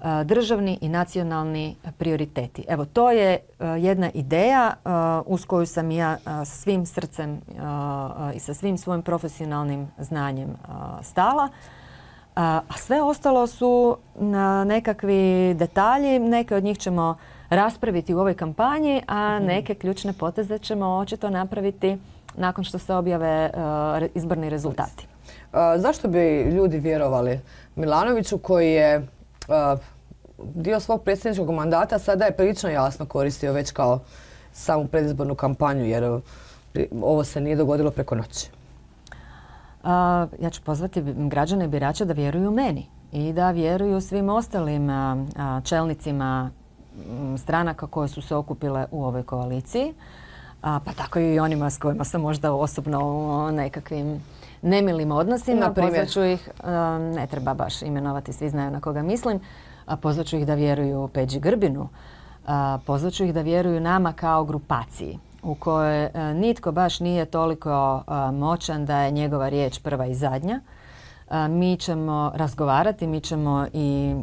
a, državni i nacionalni prioriteti. Evo, to je a, jedna ideja a, uz koju sam ja a, sa svim srcem a, i sa svim svojim profesionalnim znanjem a, stala. A, a sve ostalo su na nekakvi detalji, neke od njih ćemo raspraviti u ovoj kampanji, a neke ključne poteze ćemo očito napraviti nakon što se objave a, izborni rezultati. A, zašto bi ljudi vjerovali Milanoviću koji je Uh, dio svog predsjedničkog mandata sada je prilično jasno koristio već kao samu predizbornu kampanju, jer uh, ovo se nije dogodilo preko noći? Uh, ja ću pozvati građane i birače da vjeruju meni i da vjeruju svim ostalim uh, uh, čelnicima um, stranaka koje su se okupile u ovoj koaliciji, uh, pa tako i onima s kojima sam možda osobno u nekakvim nemilim odnosima. Pozvaću ih, ne treba baš imenovati, svi znaju na koga mislim, pozvaću ih da vjeruju Peđi Grbinu, pozvaću ih da vjeruju nama kao grupaciji u kojoj nitko baš nije toliko moćan da je njegova riječ prva i zadnja. Mi ćemo razgovarati, mi ćemo i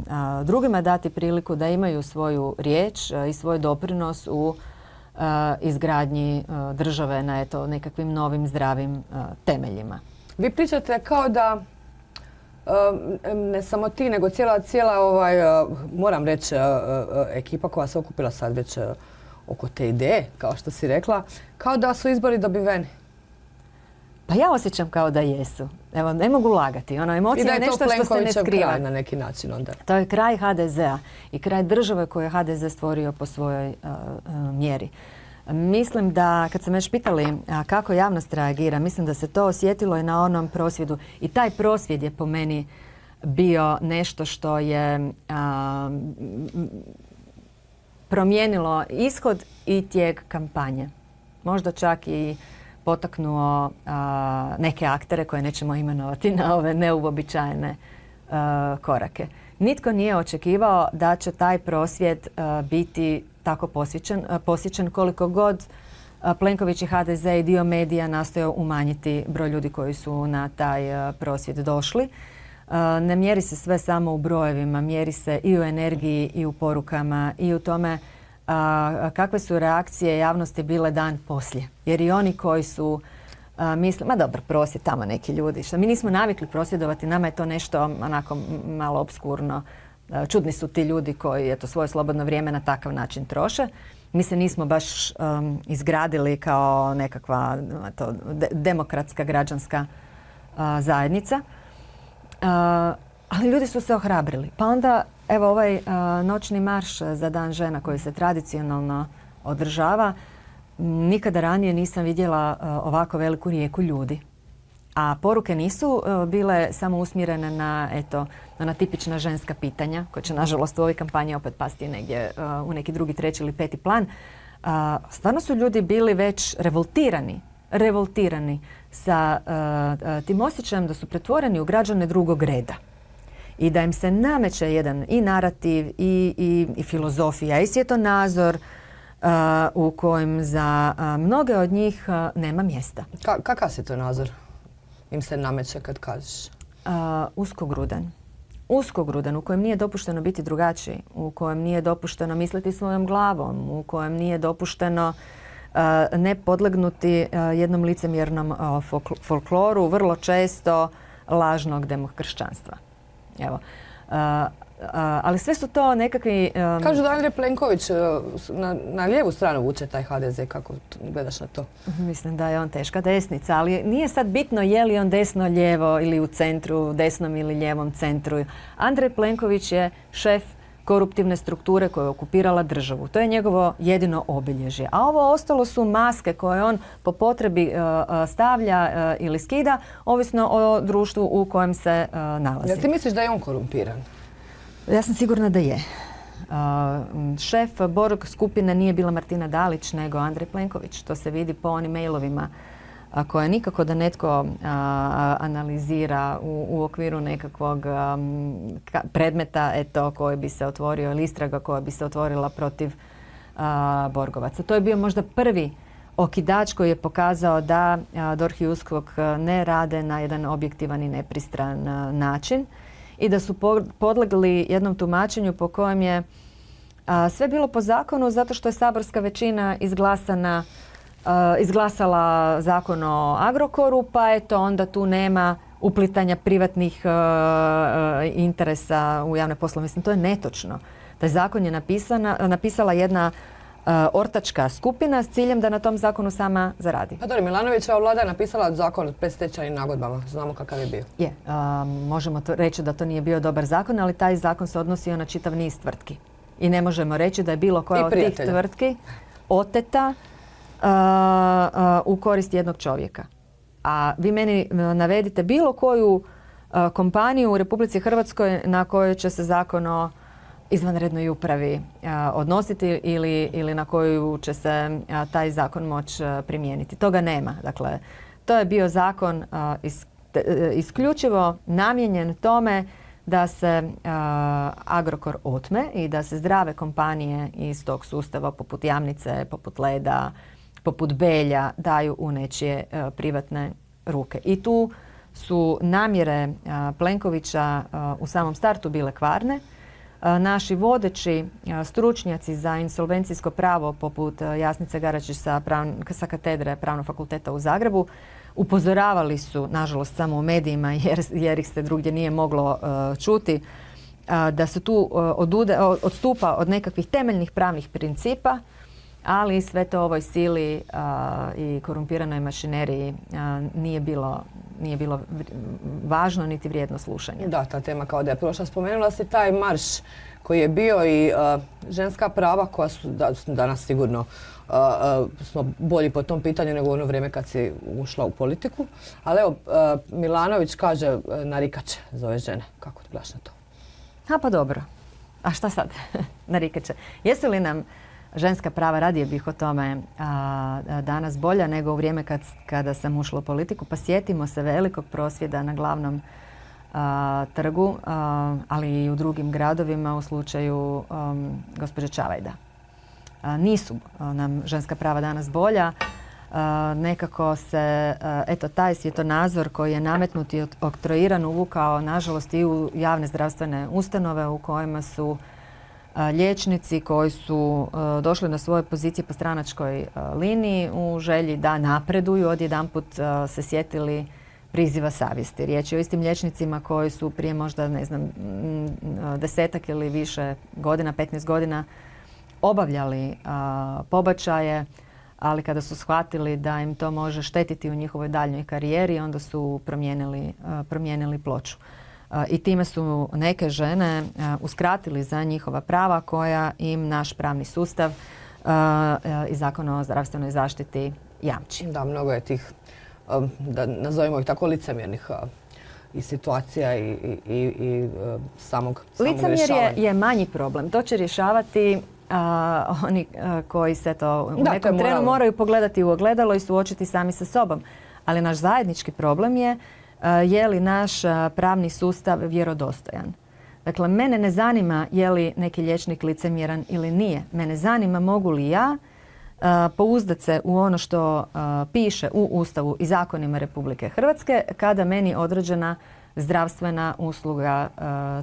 drugima dati priliku da imaju svoju riječ i svoj doprinos u izgradnji države na eto, nekakvim novim zdravim temeljima. Vi pričate kao da ne samo ti, nego cijela, cijela ovaj, moram reći, ekipa koja se okupila sad već oko te ideje, kao što si rekla, kao da su izbori dobiveni. Pa ja osjećam kao da jesu. Evo, ne mogu lagati. Ono, emocija je nešto što se ne skriva. Kraj na neki način onda. To je kraj ha de zea i kraj države koju je ha de ze stvorio po svojoj uh, uh, mjeri. Mislim da, kad sam već pitali a, kako javnost reagira, mislim da se to osjetilo i na onom prosvjedu. I taj prosvjed je po meni bio nešto što je a, promijenilo ishod i tijek kampanje. Možda čak i potaknuo a, neke aktere koje nećemo imenovati na ove neuobičajene a, korake. Nitko nije očekivao da će taj prosvjed a, biti tako posjećen, posjećen koliko god Plenković i ha de ze i dio medija nastojao umanjiti broj ljudi koji su na taj prosvjed došli. Ne mjeri se sve samo u brojevima, mjeri se i u energiji i u porukama i u tome kakve su reakcije javnosti bile dan poslije. Jer i oni koji su misle, ma dobro, prosvjed, tamo neki ljudi. Što mi nismo navikli prosvjedovati, nama je to nešto onako malo obskurno. Čudni su ti ljudi koji eto, svoje slobodno vrijeme na takav način troše. Mi se nismo baš um, izgradili kao nekakva eto, de- demokratska građanska uh, zajednica. Uh, ali ljudi su se ohrabrili. Pa onda, evo ovaj uh, noćni marš za Dan žena koji se tradicionalno održava, nikada ranije nisam vidjela uh, ovako veliku rijeku ljudi. A poruke nisu uh, bile samo usmjerene na eto, na tipična ženska pitanja, koja će nažalost u ovoj kampanji opet pasti negdje uh, u neki drugi, treći ili peti plan. Uh, stvarno su ljudi bili već revoltirani, revoltirani sa uh, uh, tim osjećajem da su pretvoreni u građane drugog reda. I da im se nameće jedan i narativ, i, i, i filozofija, i svjetonazor uh, u kojem za uh, mnoge od njih uh, nema mjesta. Ka- kakav se to nazor? im se nameće kad kažeš? Uh, uskogrudan. Uskogrudan, u kojem nije dopušteno biti drugačiji, u kojem nije dopušteno misliti svojom glavom, u kojem nije dopušteno uh, ne podlegnuti uh, jednom licemjernom uh, folkloru, vrlo često lažnog demokršćanstva. Evo. Uh, Uh, ali sve su to nekakvi... Um... Kažu da Andrej Plenković uh, na, na lijevu stranu vuče taj ha de ze. Kako gledaš na to? Mislim da je on teška desnica, ali nije sad bitno je li on desno, lijevo ili u centru, desnom ili lijevom centru. Andrej Plenković je šef koruptivne strukture koja je okupirala državu. To je njegovo jedino obilježje. A ovo ostalo su maske koje on po potrebi uh, stavlja uh, ili skida, ovisno o društvu u kojem se uh, nalazi. Jel ti misliš da je on korumpiran? Ja sam sigurna da je. Uh, šef Borg skupine nije bila Martina Dalić, nego Andrej Plenković. To se vidi po onim mailovima a, koje nikako da netko a, analizira u, u okviru nekakvog um, ka, predmeta eto, koji bi se otvorio ili istraga koja bi se otvorila protiv a, Borgovaca. To je bio možda prvi okidač koji je pokazao da a, DORH i USKOK ne rade na jedan objektivan i nepristran a, način i da su podlegli jednom tumačenju po kojem je a, sve bilo po zakonu zato što je saborska većina izglasana, a, izglasala zakon o Agrokoru, pa eto onda tu nema uplitanja privatnih a, a, interesa u javne poslove. Mislim, to je netočno. Taj zakon je napisana, napisala jedna Uh, ortačka skupina s ciljem da na tom zakonu sama zaradi. Pa dobro, Milanovićeva vlada je napisala zakon o predstečajnim nagodbama. Znamo kakav je bio. Je, uh, možemo to reći da to nije bio dobar zakon, ali taj zakon se odnosio na čitav niz tvrtki. I ne možemo reći da je bilo koja od tih tvrtki oteta uh, uh, u korist jednog čovjeka. A vi meni navedite bilo koju uh, kompaniju u Republici Hrvatskoj na kojoj će se zakon o izvanrednoj upravi a, odnositi ili, ili na koju će se a, taj zakon moći primijeniti. Toga nema. Dakle, to je bio zakon a, is, te, isključivo namijenjen tome da se a, Agrokor otme i da se zdrave kompanije iz tog sustava poput Jamnice, poput Leda, poput Belja daju u nečije a, privatne ruke. I tu su namjere a, Plenkovića a, u samom startu bile kvarne. Naši vodeći stručnjaci za insolvencijsko pravo poput Jasnice Garačić sa, sa katedre Pravnog fakulteta u Zagrebu upozoravali su, nažalost samo u medijima jer, jer ih se drugdje nije moglo uh, čuti, uh, da se tu uh, odude, odstupa od nekakvih temeljnih pravnih principa, ali sve to ovoj sili uh, i korumpiranoj mašineriji uh, nije bilo nije bilo važno niti vrijedno slušanje. Da, ta tema kao da je prošla. Spomenula si taj marš koji je bio i uh, ženska prava koja su da, danas sigurno uh, uh, smo bolji po tom pitanju nego u ono vrijeme kad si ušla u politiku. Ali evo, uh, Milanović kaže uh, narikače za ove žene. Kako ti gledaš na to? A pa dobro. A šta sad? Narikače. Jesu li nam ženska prava, radije bih o tome a, danas bolja nego u vrijeme kad, kada sam ušla u politiku. Pa sjetimo se velikog prosvjeda na glavnom a, trgu, a, ali i u drugim gradovima u slučaju um, gospođe Čavajda. A, nisu a, nam ženska prava danas bolja. A, nekako se, a, eto, taj svjetonazor koji je nametnut i oktroiran uvukao, nažalost, i u javne zdravstvene ustanove u kojima su liječnici koji su uh, došli na svoje pozicije po stranačkoj uh, liniji u želji da napreduju, odjedanput uh, se sjetili priziva savjesti. Riječ je o istim liječnicima koji su prije možda, ne znam, desetak ili više godina, petnaest godina obavljali uh, pobačaje, ali kada su shvatili da im to može štetiti u njihovoj daljnjoj karijeri, onda su promijenili, uh, promijenili ploču. I time su neke žene uskratili za njihova prava koja im naš pravni sustav i Zakon o zdravstvenoj zaštiti jamči. Da, mnogo je tih, da nazovimo ih tako, licemjernih i situacija i, i, i, i samog, samog Licemjer rješavanja. je, je manji problem. To će rješavati a, oni a, koji se to u da, nekom trenu moraju pogledati u ogledalo i suočiti sami sa sobom. Ali naš zajednički problem je je li naš pravni sustav vjerodostojan. Dakle, mene ne zanima je li neki liječnik licemjeran ili nije. Mene zanima mogu li ja pouzdat se u ono što piše u Ustavu i zakonima Republike Hrvatske kada meni određena zdravstvena usluga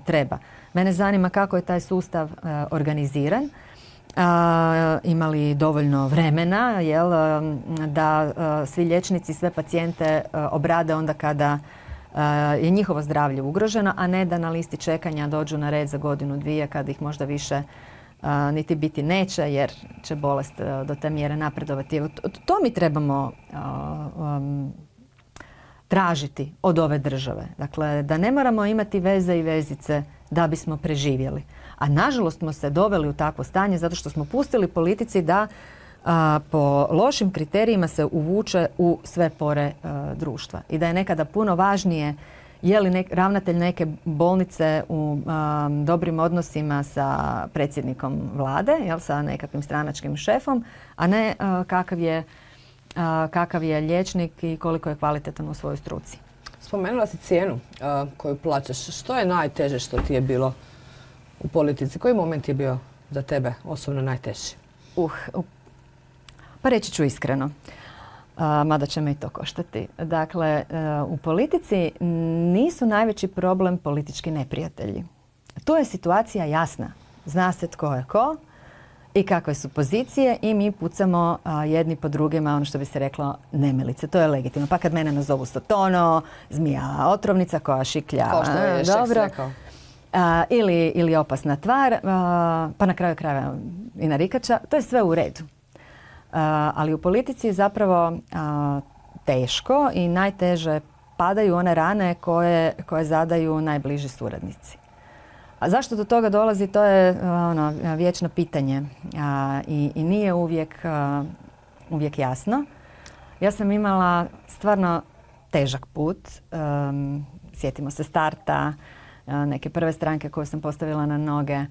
treba. Mene zanima kako je taj sustav organiziran. Ima li dovoljno vremena jel, da svi liječnici, sve pacijente obrade onda kada je njihovo zdravlje ugroženo, a ne da na listi čekanja dođu na red za godinu, dvije, kada ih možda više a, niti biti neće, jer će bolest a, do te mjere napredovati. Evo, to, to mi trebamo a, um, tražiti od ove države. Dakle, da ne moramo imati veze i vezice da bismo preživjeli. A nažalost smo se doveli u takvo stanje zato što smo pustili politici da a, po lošim kriterijima se uvuče u sve pore a, društva. I da je nekada puno važnije je li nek, ravnatelj neke bolnice u a, dobrim odnosima sa predsjednikom vlade, jel, sa nekakvim stranačkim šefom, a ne a, kakav je, a, kakav je liječnik i koliko je kvalitetan u svojoj struci. Spomenula si cijenu a, koju plaćaš. Što je najteže što ti je bilo u politici? Koji moment je bio za tebe osobno najteži? Uh, uh, pa reći ću iskreno, uh, mada će me i to koštati. Dakle, uh, u politici nisu najveći problem politički neprijatelji. Tu je situacija jasna. Zna se tko je ko i kakve su pozicije i mi pucamo uh, jedni po drugima, ono što bi se reklo, nemilice. To je legitimno. Pa kad mene nazovu Sotono, zmija otrovnica koja šiklja. Kao što je Šeks rekao. Uh, ili, ili opasna tvar, uh, pa na kraju krajeva i narikača, to je sve u redu. Uh, ali u politici je zapravo uh, teško i najteže padaju one rane koje, koje zadaju najbliži suradnici. A zašto do toga dolazi, to je uh, ono, vječno pitanje uh, i, i nije uvijek, uh, uvijek jasno. Ja sam imala stvarno težak put. Um, sjetimo se starta, neke prve stranke koje sam postavila na noge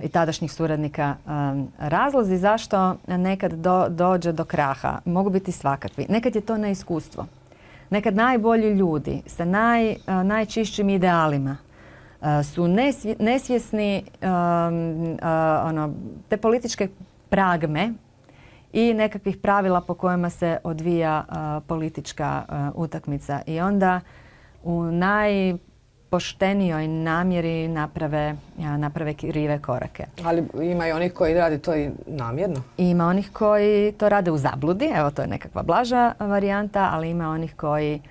i tadašnjih suradnika. Razlozi zašto nekad do, dođe do kraha mogu biti svakakvi. Nekad je to neiskustvo. Nekad najbolji ljudi sa naj, najčišćim idealima su nesvj, nesvjesni um, ono, te političke pragme i nekakvih pravila po kojima se odvija uh, politička uh, utakmica. I onda u naj poštenijoj namjeri naprave, naprave krive korake. Ali ima i onih koji rade to i namjerno? Ima onih koji to rade u zabludi, evo to je nekakva blaža varijanta, ali ima onih koji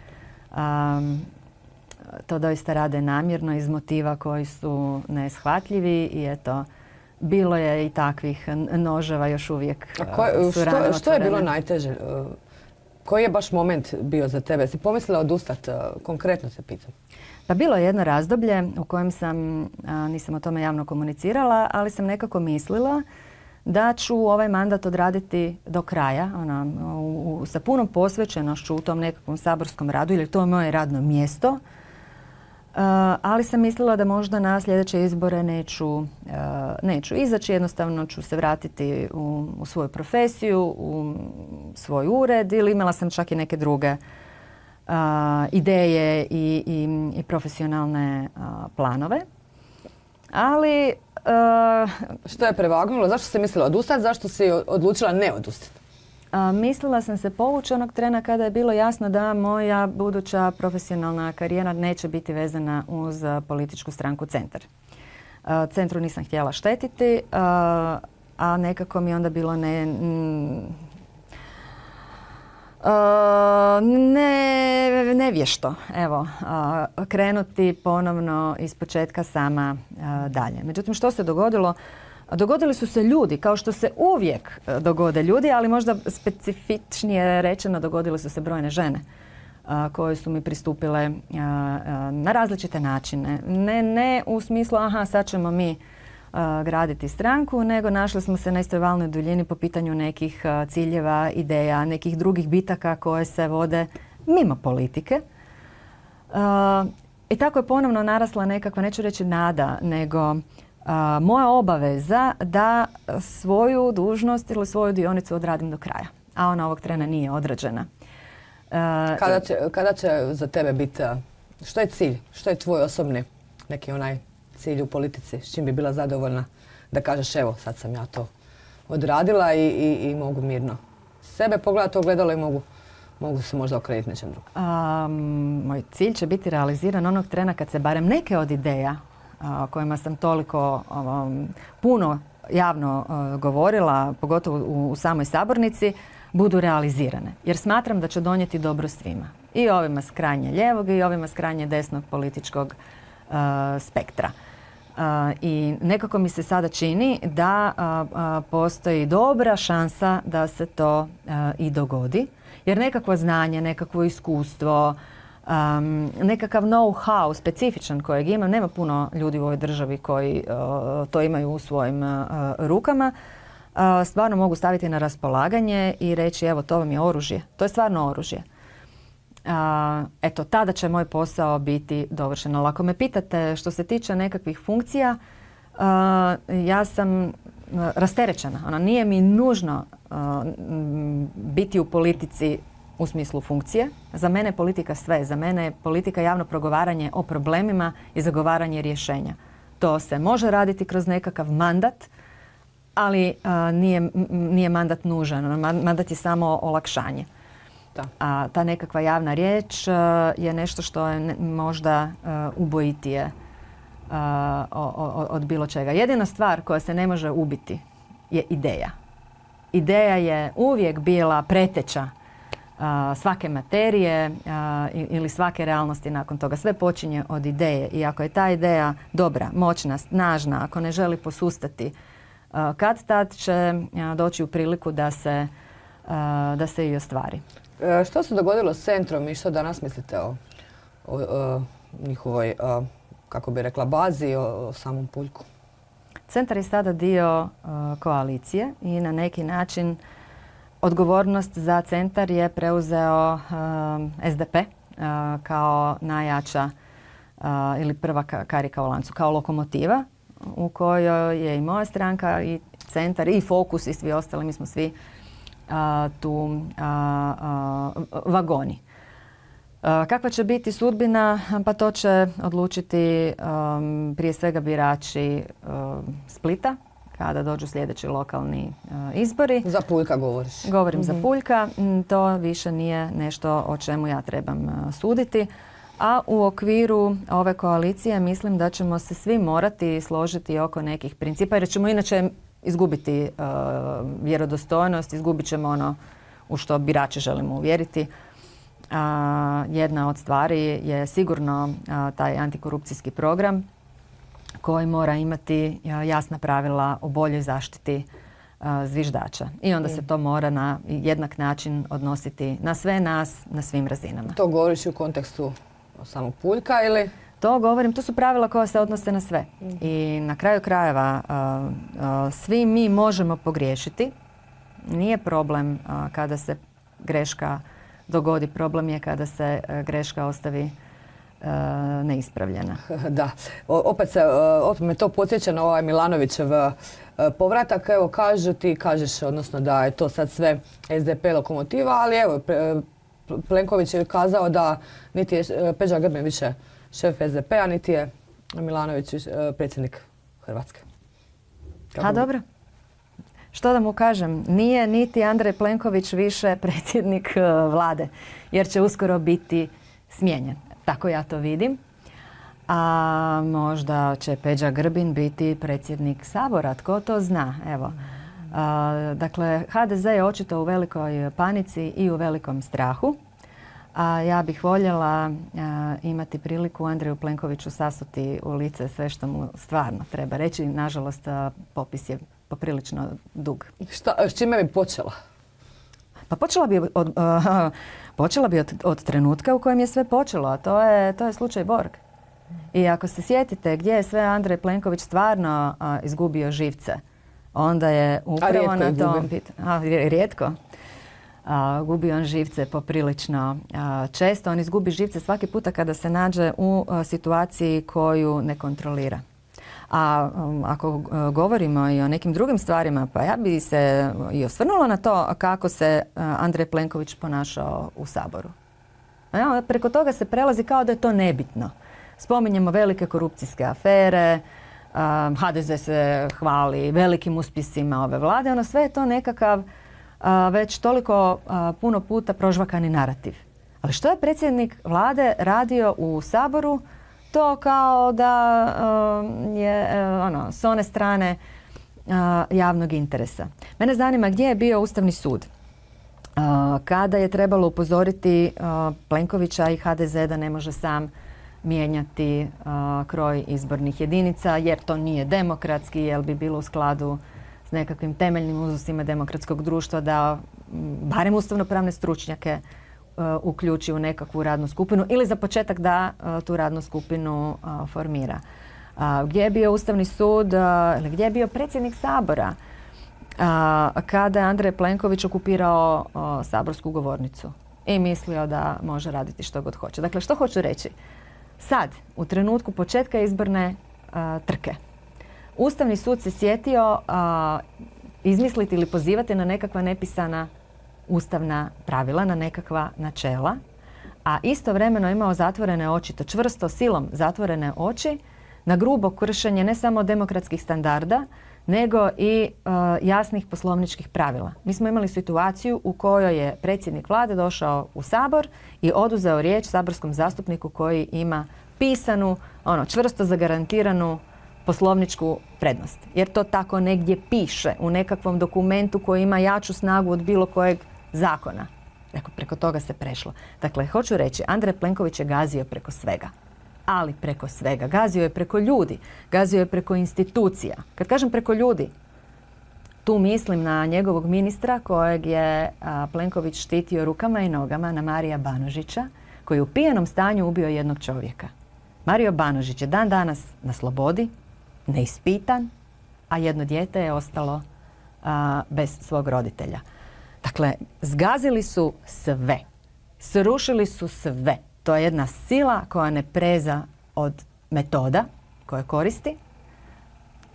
um, to doista rade namjerno iz motiva koji su neshvatljivi i eto, bilo je i takvih noževa još uvijek. A ko, što, što je bilo najteže? Koji je baš moment bio za tebe? Si pomislila odustati? Konkretno se pitam. Pa bilo je jedno razdoblje u kojem sam, a, nisam o tome javno komunicirala, ali sam nekako mislila da ću ovaj mandat odraditi do kraja, ona, u, u, sa punom posvećenošću u tom nekakvom saborskom radu, ili to je moje radno mjesto. A, ali sam mislila da možda na sljedeće izbore neću, a, neću izaći, jednostavno ću se vratiti u, u svoju profesiju, u svoj ured ili imala sam čak i neke druge Uh, ideje i, i, i profesionalne uh, planove. Ali... Uh, što je prevagnulo? Zašto si mislila odustati? Zašto si odlučila ne odustati? Uh, mislila sam se povući onog trena kada je bilo jasno da moja buduća profesionalna karijera neće biti vezana uz uh, političku stranku Centar. Uh, centru nisam htjela štetiti, uh, a nekako mi onda bilo ne... Mm, Uh, ne, nevješto, evo, uh, krenuti ponovno ispočetka sama uh, dalje. Međutim, što se dogodilo? Dogodili su se ljudi, kao što se uvijek dogode ljudi, ali možda specifičnije rečeno dogodile su se brojne žene uh, koje su mi pristupile uh, uh, na različite načine. Ne, ne u smislu, aha, sad ćemo mi graditi stranku, nego našli smo se na istoj valnoj duljini po pitanju nekih ciljeva, ideja, nekih drugih bitaka koje se vode mimo politike. I tako je ponovno narasla nekakva, neću reći nada, nego moja obaveza da svoju dužnost ili svoju dionicu odradim do kraja. A ona ovog trena nije odrađena. Kada će, kada će za tebe biti, što je cilj, što je tvoj osobni neki onaj cilj u politici, s čim bi bila zadovoljna da kažeš evo sad sam ja to odradila i, i, i mogu mirno sebe pogledati ogledalo i mogu, mogu se možda okrenuti nečem drugom. Um, moj cilj će biti realiziran onog trena kad se barem neke od ideja o kojima sam toliko um, puno javno uh, govorila, pogotovo u, u samoj sabornici, budu realizirane. Jer smatram da će donijeti dobro svima. I ovima s krajnje lijevog i ovima s krajnje desnog političkog uh, spektra. Uh, I nekako mi se sada čini da uh, uh, postoji dobra šansa da se to uh, i dogodi. Jer nekakvo znanje, nekakvo iskustvo, um, nekakav know-how specifičan kojeg imam, nema puno ljudi u ovoj državi koji uh, to imaju u svojim uh, rukama, uh, stvarno mogu staviti na raspolaganje i reći evo to vam je oružje. To je stvarno oružje. Uh, eto, tada će moj posao biti dovršen. Ali ako me pitate što se tiče nekakvih funkcija, uh, ja sam rasterećena. Ona nije mi nužno uh, biti u politici u smislu funkcije. Za mene je politika sve. Za mene je politika javno progovaranje o problemima i zagovaranje rješenja. To se može raditi kroz nekakav mandat, ali uh, nije, nije mandat nužan. Mandat je samo olakšanje. Da. A ta nekakva javna riječ uh, je nešto što je ne, možda uh, ubojitije uh, od, od bilo čega. Jedina stvar koja se ne može ubiti je ideja. Ideja je uvijek bila preteča uh, svake materije uh, ili svake realnosti nakon toga. Sve počinje od ideje i ako je ta ideja dobra, moćna, snažna, ako ne želi posustati, uh, kad tad će uh, doći u priliku da se, uh, da se i ostvari. E, što se dogodilo s centrom i što danas mislite o, o, o njihovoj, o, kako bi rekla, bazi, o, o samom Puljku? Centar je sada dio uh, koalicije i na neki način odgovornost za centar je preuzeo uh, S D P uh, kao najjača uh, ili prva karika u lancu, kao lokomotiva u kojoj je i moja stranka i centar i Fokus i svi ostali, mi smo svi Uh, tu uh, uh, vagoni. Uh, kakva će biti sudbina? Pa to će odlučiti um, prije svega birači uh, Splita kada dođu sljedeći lokalni uh, izbori. Za Puljka govoriš? Govorim mm-hmm. za Puljka. To više nije nešto o čemu ja trebam uh, suditi. A u okviru ove koalicije mislim da ćemo se svi morati složiti oko nekih principa jer ćemo inače izgubiti uh, vjerodostojnost, izgubit ćemo ono u što birače želimo uvjeriti. Uh, jedna od stvari je sigurno uh, taj antikorupcijski program koji mora imati uh, jasna pravila o boljoj zaštiti uh, zviždača. I onda mm. se to mora na jednak način odnositi na sve nas, na svim razinama. To govoriš u kontekstu samog Puljka ili? To govorim, to su pravila koja se odnose na sve. Mm-hmm. I na kraju krajeva uh, uh, svi mi možemo pogriješiti. Nije problem uh, kada se greška dogodi, problem je kada se uh, greška ostavi uh, neispravljena. Da, o, opet, se, uh, opet me to podsjeća na ovaj Milanovićev uh, povratak. Evo kažu ti, kažeš odnosno da je to sad sve S D P lokomotiva, ali evo pre, Plenković je kazao da niti je uh, Peđa Grbin više šef S D P-a, niti je Milanović predsjednik Hrvatske. Kako? A dobro. Što da mu kažem? Nije niti Andrej Plenković više predsjednik vlade, jer će uskoro biti smijenjen. Tako ja to vidim. A možda će Peđa Grbin biti predsjednik Sabora, tko to zna? Evo. A, dakle, H D Z je očito u velikoj panici i u velikom strahu. A ja bih voljela a, imati priliku Andreju Plenkoviću sasuti u lice sve što mu stvarno treba reći. Nažalost, a, popis je poprilično dug. Šta, s čime bi počela? Pa počela bi od, a, počela bi od, od trenutka u kojem je sve počelo, a to je, to je slučaj Borg. I ako se sjetite gdje je sve Andrej Plenković stvarno a, izgubio živce, onda je upravo na tom pitanju. Rijetko. Uh, gubi on živce poprilično uh, često. On izgubi živce svaki puta kada se nađe u uh, situaciji koju ne kontrolira. A um, ako uh, govorimo i o nekim drugim stvarima, pa ja bi se i osvrnula na to kako se uh, Andrej Plenković ponašao u Saboru. Ja, preko toga se prelazi kao da je to nebitno. Spominjemo velike korupcijske afere, ha de ze se hvali velikim uspjesima ove vlade, ono sve je to nekakav već toliko puno puta prožvakani narativ. Ali što je predsjednik vlade radio u Saboru? To kao da je ono, s one strane javnog interesa. Mene zanima gdje je bio Ustavni sud kada je trebalo upozoriti Plenkovića i ha de ze da ne može sam mijenjati kroj izbornih jedinica jer to nije demokratski, jer bi bilo u skladu s nekakvim temeljnim uzusima demokratskog društva da barem ustavnopravne stručnjake uključi u nekakvu radnu skupinu ili za početak da tu radnu skupinu formira. Gdje je bio Ustavni sud ili gdje je bio predsjednik Sabora kada je Andrej Plenković okupirao saborsku govornicu i mislio da može raditi što god hoće. Dakle, što hoću reći? Sad, u trenutku početka izborne trke, Ustavni sud se sjetio izmisliti ili pozivati na nekakva nepisana ustavna pravila, na nekakva načela, a istovremeno imao zatvorene oči, to čvrsto silom zatvorene oči, na grubo kršenje ne samo demokratskih standarda, nego i uh, jasnih poslovničkih pravila. Mi smo imali situaciju u kojoj je predsjednik vlade došao u Sabor i oduzeo riječ saborskom zastupniku koji ima pisanu, ono, čvrsto zagarantiranu poslovničku prednost. Jer to tako negdje piše u nekakvom dokumentu koji ima jaču snagu od bilo kojeg zakona. Dakle, preko toga se prešlo. Dakle, hoću reći, Andrej Plenković je gazio preko svega. Ali preko svega. Gazio je preko ljudi. Gazio je preko institucija. Kad kažem preko ljudi, tu mislim na njegovog ministra kojeg je a, Plenković štitio rukama i nogama, na Marija Banožića, koji je u pijanom stanju ubio jednog čovjeka. Mario Banožić je dan danas na slobodi, neispitan, a jedno dijete je ostalo a, bez svog roditelja. Dakle, zgazili su sve. Srušili su sve. To je jedna sila koja ne preza od metoda koje koristi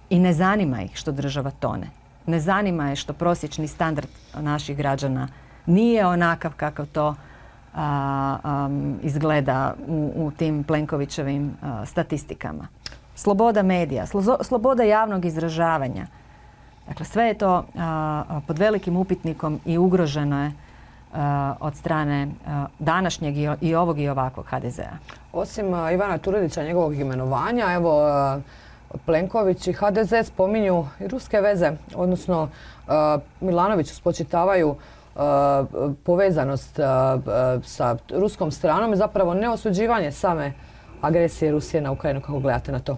i ne zanima ih što država tone. Ne zanima je što prosječni standard naših građana nije onakav kakav to a, a, izgleda u, u tim Plenkovićevim a, statistikama. Sloboda medija, slo, sloboda javnog izražavanja. Dakle, sve je to a, pod velikim upitnikom i ugroženo je a, od strane a, današnjeg i, i ovog i ovakvog ha de zea. Osim a, Ivana Turudića, njegovog imenovanja, evo a, Plenković i ha de ze spominju i ruske veze, odnosno a, Milanoviću spočitavaju a, povezanost a, a, sa ruskom stranom i zapravo neosuđivanje same agresije Rusije na Ukrajinu. Kako gledate na to?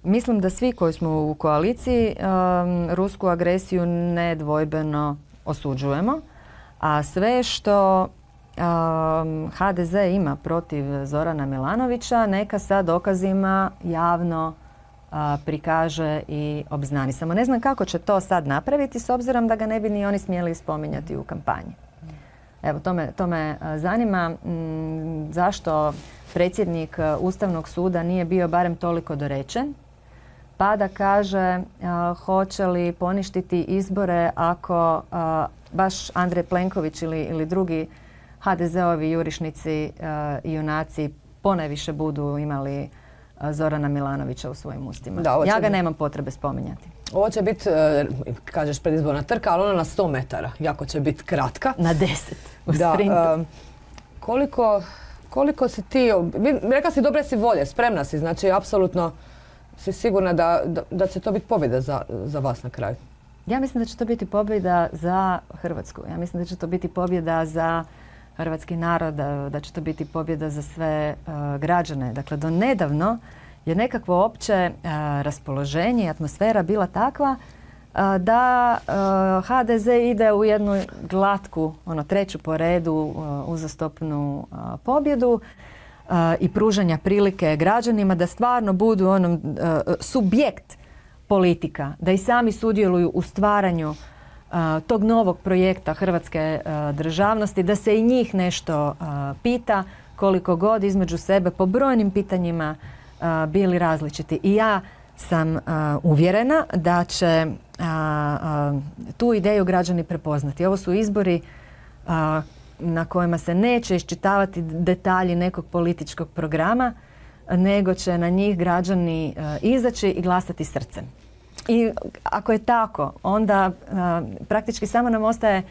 Mislim da svi koji smo u koaliciji um, rusku agresiju nedvojbeno osuđujemo, a sve što um, ha de ze ima protiv Zorana Milanovića neka sa dokazima javno uh, prikaže i obznani. Samo ne znam kako će to sad napraviti s obzirom da ga ne bi ni oni smjeli spominjati u kampanji. Evo, to me, to me zanima m, zašto predsjednik Ustavnog suda nije bio barem toliko dorečen, pa da kaže a, hoće li poništiti izbore ako a, baš Andrej Plenković ili, ili drugi ha de zeovi jurišnici i junaci ponajviše budu imali a, Zorana Milanovića u svojim ustima. Da, ja ga biti... nemam potrebe spominjati. Ovo će biti, kažeš, predizborna trka, ali ona na sto metara. Jako će biti kratka. Na deset u da, sprintu. A, koliko, koliko si ti, rekla si dobre si volje, spremna si, znači apsolutno si sigurna da, da, da će to biti pobjeda za, za vas na kraju? Ja mislim da će to biti pobjeda za Hrvatsku. Ja mislim da će to biti pobjeda za hrvatski narod, da će to biti pobjeda za sve uh, građane. Dakle, do nedavno je nekakvo opće uh, raspoloženje i atmosfera bila takva uh, da uh, ha de ze ide u jednu glatku, ono, treću po redu uh, uzastopnu uh, pobjedu uh, i pružanja prilike građanima da stvarno budu onom uh, subjekt politika, da i sami sudjeluju u stvaranju uh, tog novog projekta hrvatske uh, državnosti, da se i njih nešto uh, pita, koliko god između sebe po brojnim pitanjima uh, bili različiti. I ja sam uh, uvjerena da će uh, uh, tu ideju građani prepoznati. Ovo su izbori uh, na kojima se neće iščitavati detalji nekog političkog programa, nego će na njih građani izaći i glasati srcem. I ako je tako, onda praktički samo nam ostaje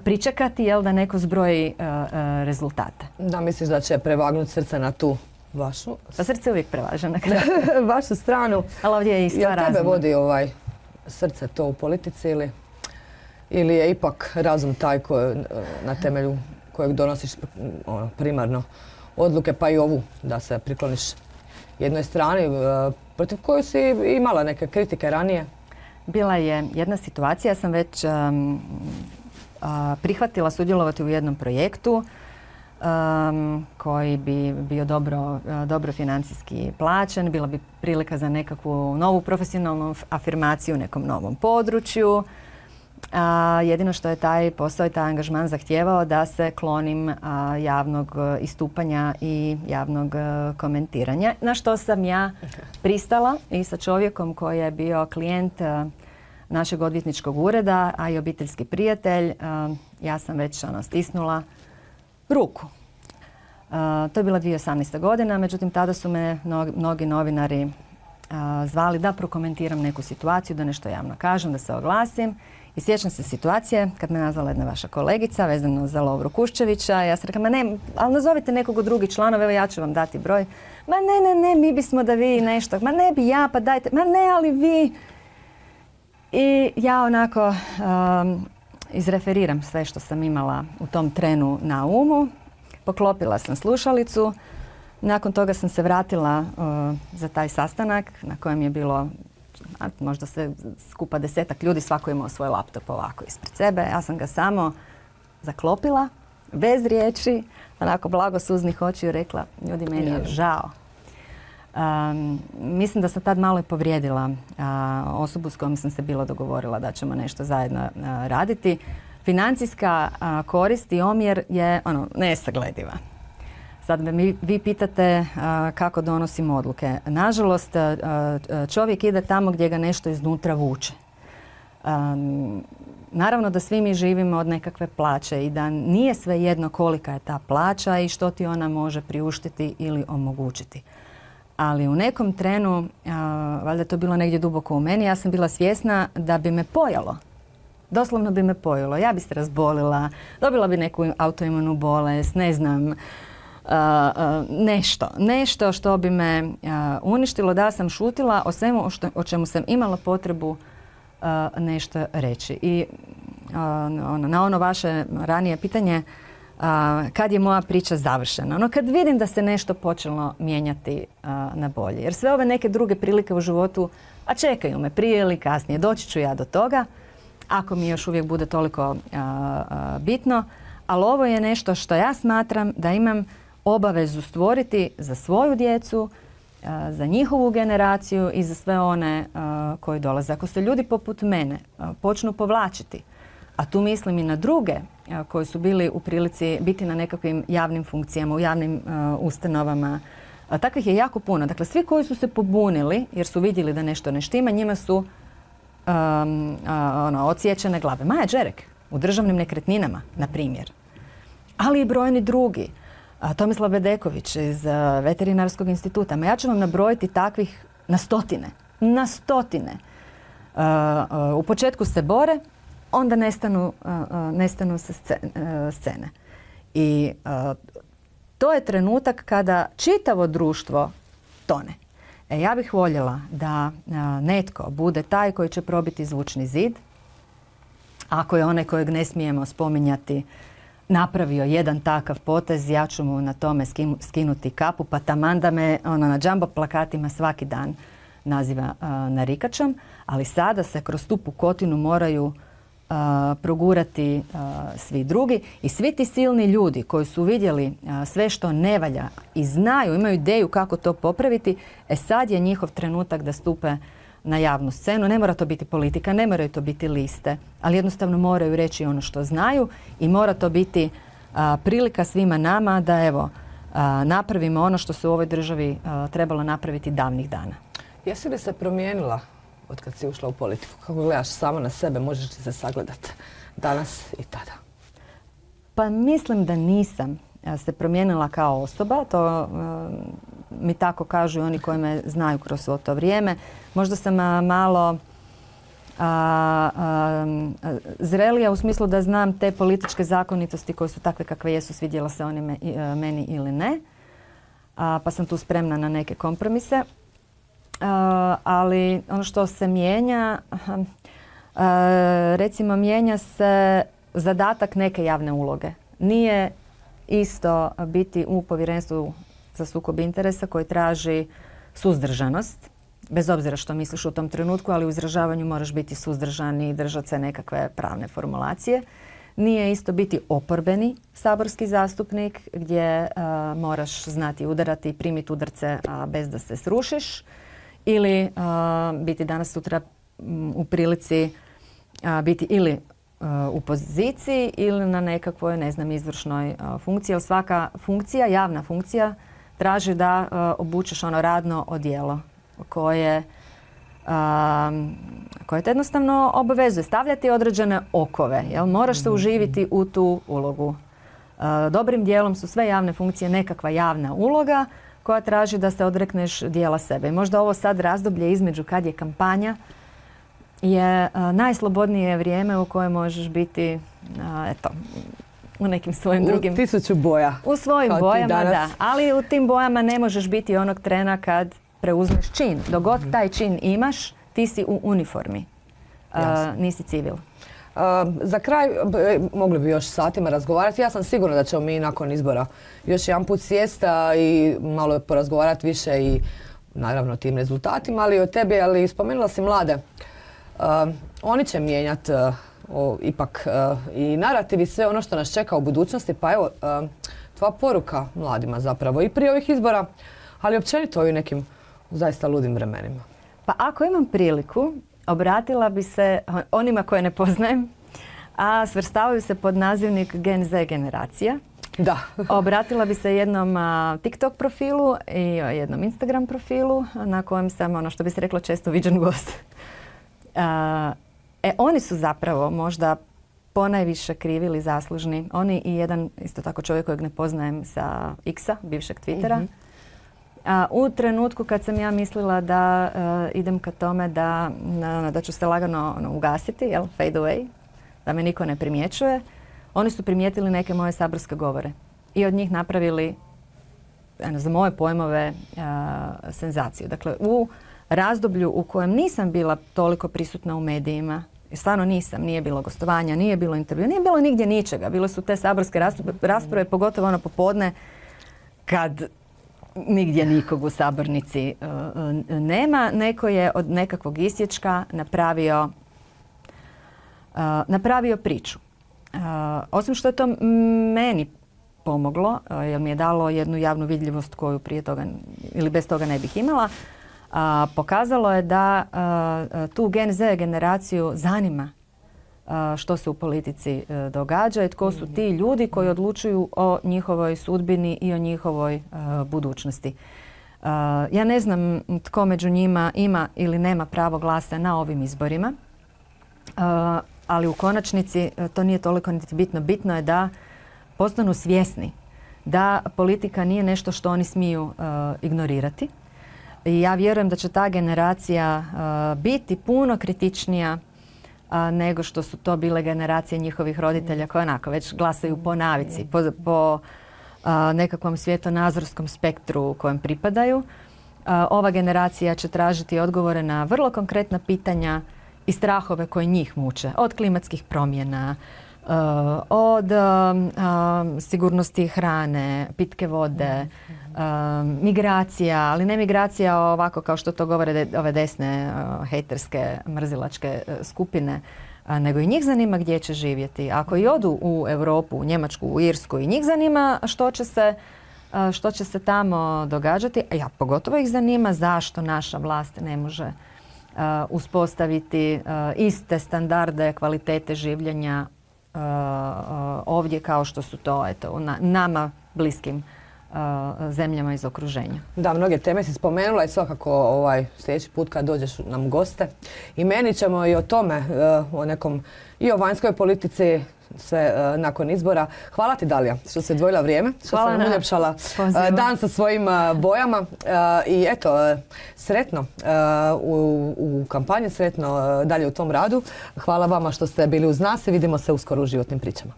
pričekati, jel, da neko zbroji rezultate. Da, misliš da će prevagnuti srce na tu vašu? Pa srce uvijek prevaža na kraju. Vašu stranu. Ali ovdje je i stvar razuma. Jel tebe vodi ovaj srce to u politici ili, ili je ipak razum taj ko, na temelju kojeg donosiš ono, primarno odluke, pa i ovu da se prikloniš jednoj strani protiv koju si imala neke kritike ranije? Bila je jedna situacija, ja sam već um, uh, prihvatila sudjelovati u jednom projektu um, koji bi bio dobro, uh, dobro financijski plaćen, bila bi prilika za nekakvu novu profesionalnu afirmaciju u nekom novom području. A, jedino što je taj posao i taj angažman zahtijevao da se klonim a, javnog istupanja i javnog a, komentiranja, na što sam ja pristala i sa čovjekom koji je bio klijent a, našeg odvjetničkog ureda, a i obiteljski prijatelj. A, ja sam već ono, stisnula ruku. A, to je bila dvije tisuće osamnaesta. godina, međutim tada su me mnogi, mnogi novinari a, zvali da prokomentiram neku situaciju, da nešto javno kažem, da se oglasim. I sjećam se situacije kad me nazvala jedna vaša kolegica vezano za Lovru Kuščevića. Ja sam rekla, ma ne, ali nazovite nekog od drugih članova, evo ja ću vam dati broj. Ma ne, ne, ne, mi bismo da vi nešto. Ma ne bi ja, pa dajte. Ma ne, ali vi. I ja onako um, izreferiram sve što sam imala u tom trenu na umu. Poklopila sam slušalicu. Nakon toga sam se vratila uh, za taj sastanak na kojem je bilo možda sve skupa desetak ljudi, svako imao svoj laptop ovako ispred sebe. Ja sam ga samo zaklopila, bez riječi, onako blago suznih očiju rekla, ljudi, meni je žao. Um, mislim da sam tad malo i povrijedila uh, osobu s kojom sam se bilo dogovorila da ćemo nešto zajedno uh, raditi. Financijska uh, korist i omjer je ono, nesaglediva. Sad me mi, vi pitate uh, kako donosim odluke. Nažalost, uh, čovjek ide tamo gdje ga nešto iznutra vuče. Um, naravno da svi mi živimo od nekakve plaće i da nije svejedno kolika je ta plaća i što ti ona može priuštiti ili omogućiti. Ali u nekom trenu, uh, valjda je to bilo negdje duboko u meni, ja sam bila svjesna da bi me pojalo. Doslovno bi me pojelo. Ja bi se razbolila, dobila bi neku autoimunu bolest, ne znam, Uh, uh, nešto, nešto što bi me uh, uništilo da sam šutila o svemu što, o čemu sam imala potrebu uh, nešto reći. I uh, ono, na ono vaše ranije pitanje, uh, kad je moja priča završena? Ono, kad vidim da se nešto počelo mijenjati uh, na bolje. Jer sve ove neke druge prilike u životu, a čekaju me prije ili kasnije, doći ću ja do toga, ako mi još uvijek bude toliko uh, uh, bitno. Ali ovo je nešto što ja smatram da imam obavezu stvoriti za svoju djecu, za njihovu generaciju i za sve one koji dolaze. Ako se ljudi poput mene počnu povlačiti, a tu mislim i na druge koji su bili u prilici biti na nekakvim javnim funkcijama, u javnim ustanovama, takvih je jako puno. Dakle, svi koji su se pobunili jer su vidjeli da nešto ne štima, njima su um, ono, odsječene glave. Maja Đerek u državnim nekretninama, na primjer. Ali i brojni drugi. Tomislav Bedeković iz uh, Veterinarskog instituta. Ma ja ću vam nabrojiti takvih na stotine. Na stotine. Uh, uh, u početku se bore, onda nestanu, uh, uh, nestanu se scene. I uh, to je trenutak kada čitavo društvo tone. E, ja bih voljela da uh, netko bude taj koji će probiti zvučni zid, ako je onaj kojeg ne smijemo spominjati napravio jedan takav potez, ja ću mu na tome skinuti kapu, pa taman da me ono, na džambo plakatima svaki dan naziva uh, narikačom, ali sada se kroz tu pukotinu moraju uh, progurati uh, svi drugi i svi ti silni ljudi koji su vidjeli uh, sve što ne valja i znaju, imaju ideju kako to popraviti, e sad je njihov trenutak da stupe na javnu scenu. Ne mora to biti politika, ne moraju to biti liste, ali jednostavno moraju reći ono što znaju i mora to biti a, prilika svima nama da evo a, napravimo ono što se u ovoj državi a, trebalo napraviti davnih dana. Jesi li se promijenila od kad si ušla u politiku? Kako gledaš samo na sebe, možeš li se sagledati danas i tada? Pa mislim da nisam se promijenila kao osoba. To mi tako kažu i oni koji me znaju kroz svo to vrijeme. Možda sam malo a, a, zrelija u smislu da znam te političke zakonitosti koje su takve kakve jesu, svidjela se oni me, meni ili ne. A, pa sam tu spremna na neke kompromise. A, ali ono što se mijenja, a, recimo mijenja se zadatak neke javne uloge. Nije isto biti u povjerenstvu za sukob interesa koji traži suzdržanost, bez obzira što misliš u tom trenutku, ali u izražavanju moraš biti suzdržan i držati se nekakve pravne formulacije. Nije isto biti oporbeni saborski zastupnik gdje a, moraš znati udarati i primiti udarce a, bez da se srušiš, ili a, biti danas sutra m, u prilici a, biti ili u poziciji ili na nekakvoj, ne znam, izvršnoj funkciji. Jer svaka funkcija, javna funkcija, traži da obučeš ono radno odijelo koje, koje te jednostavno obavezuje. Stavljati određene okove. Jel? Moraš se uživiti u tu ulogu. Dobrim dijelom su sve javne funkcije nekakva javna uloga koja traži da se odrekneš dijela sebe. I možda ovo sad razdoblje između kad je kampanja je a, najslobodnije vrijeme u kojem možeš biti a, eto, u nekim svojim u drugim... U tisuću boja. U svojim bojama, da. Ali u tim bojama ne možeš biti onog trena kad preuzmeš čin. Dok god taj čin imaš, ti si u uniformi. A, nisi civil. Uh, za kraj, mogli bi još satima razgovarati. Ja sam sigurna da ćemo mi nakon izbora još jedan put sjesti i malo porazgovarati više i naravno o tim rezultatima, ali i o tebi, ali spomenula si mlade. Uh, oni će mijenjati uh, ipak uh, i narativ i sve ono što nas čeka u budućnosti. Pa evo, uh, tvoja poruka mladima zapravo i prije ovih izbora, ali općenito ovim nekim zaista ludim vremenima. Pa ako imam priliku, obratila bi se onima koje ne poznajem, a svrstavaju se pod nazivnik Gen Z generacija. Da. Obratila bi se jednom a, TikTok profilu i jednom Instagram profilu na kojem sam, ono što bi se reklo, često viđen gost. A, e, oni su zapravo možda ponajviše krivi ili zaslužni. Oni i jedan, isto tako čovjek kojeg ne poznajem sa X-a, bivšeg Twittera. Mm-hmm. A, u trenutku kad sam ja mislila da uh, idem ka tome da, na, da ću se lagano ono, ugasiti, jel, fade away, da me niko ne primjećuje, oni su primijetili neke moje saborske govore i od njih napravili, ano, za moje pojmove, uh, senzaciju. Dakle, u razdoblju u kojem nisam bila toliko prisutna u medijima, stvarno nisam, nije bilo gostovanja, nije bilo intervjua, nije bilo nigdje ničega. Bile su te saborske rasprave, rasprave pogotovo ono popodne kad nigdje nikog u sabornici uh, nema. Neko je od nekakvog isječka napravio, uh, napravio priču. Uh, osim što je to meni pomoglo, uh, jer mi je dalo jednu javnu vidljivost koju prije toga ili bez toga ne bih imala, uh, pokazalo je da uh, tu Gen Z generaciju zanima uh, što se u politici uh, događa i tko su ti ljudi koji odlučuju o njihovoj sudbini i o njihovoj uh, budućnosti. Uh, ja ne znam tko među njima ima ili nema pravo glasa na ovim izborima, uh, ali u konačnici uh, to nije toliko niti bitno. Bitno je da postanu svjesni da politika nije nešto što oni smiju uh, ignorirati. I ja vjerujem da će ta generacija uh, biti puno kritičnija a, nego što su to bile generacije njihovih roditelja koje onako već glasaju po navici, po, po a, nekakvom svjetonazorskom spektru kojem pripadaju. A, ova generacija će tražiti odgovore na vrlo konkretna pitanja i strahove koji njih muče. Od klimatskih promjena, a, od a, a, sigurnosti hrane, pitke vode, a, migracija, ali ne migracija ovako kao što to govore de, ove desne a, hejterske, mrzilačke a, skupine, a, nego i njih zanima gdje će živjeti. Ako i odu u Europu, u Njemačku, u Irsku, i njih zanima što će se, a, što će se tamo događati. A ja, pogotovo ih zanima zašto naša vlast ne može Uh, uspostaviti uh, iste standarde kvalitete življenja uh, uh, ovdje kao što su to eto, na, nama bliskim uh, zemljama iz okruženja. Da, mnoge teme si spomenula i svakako ovaj, sljedeći put kad dođeš nam goste. I meni ćemo i o tome, uh, o nekom, i o vanjskoj politici sve nakon izbora. Hvala ti, Dalija, što si odvojila vrijeme, što Hvala si nam uljepšala dan sa svojim bojama. I eto, sretno u, u kampanji, sretno dalje u tom radu. Hvala vama što ste bili uz nas i vidimo se uskoro u Životnim pričama.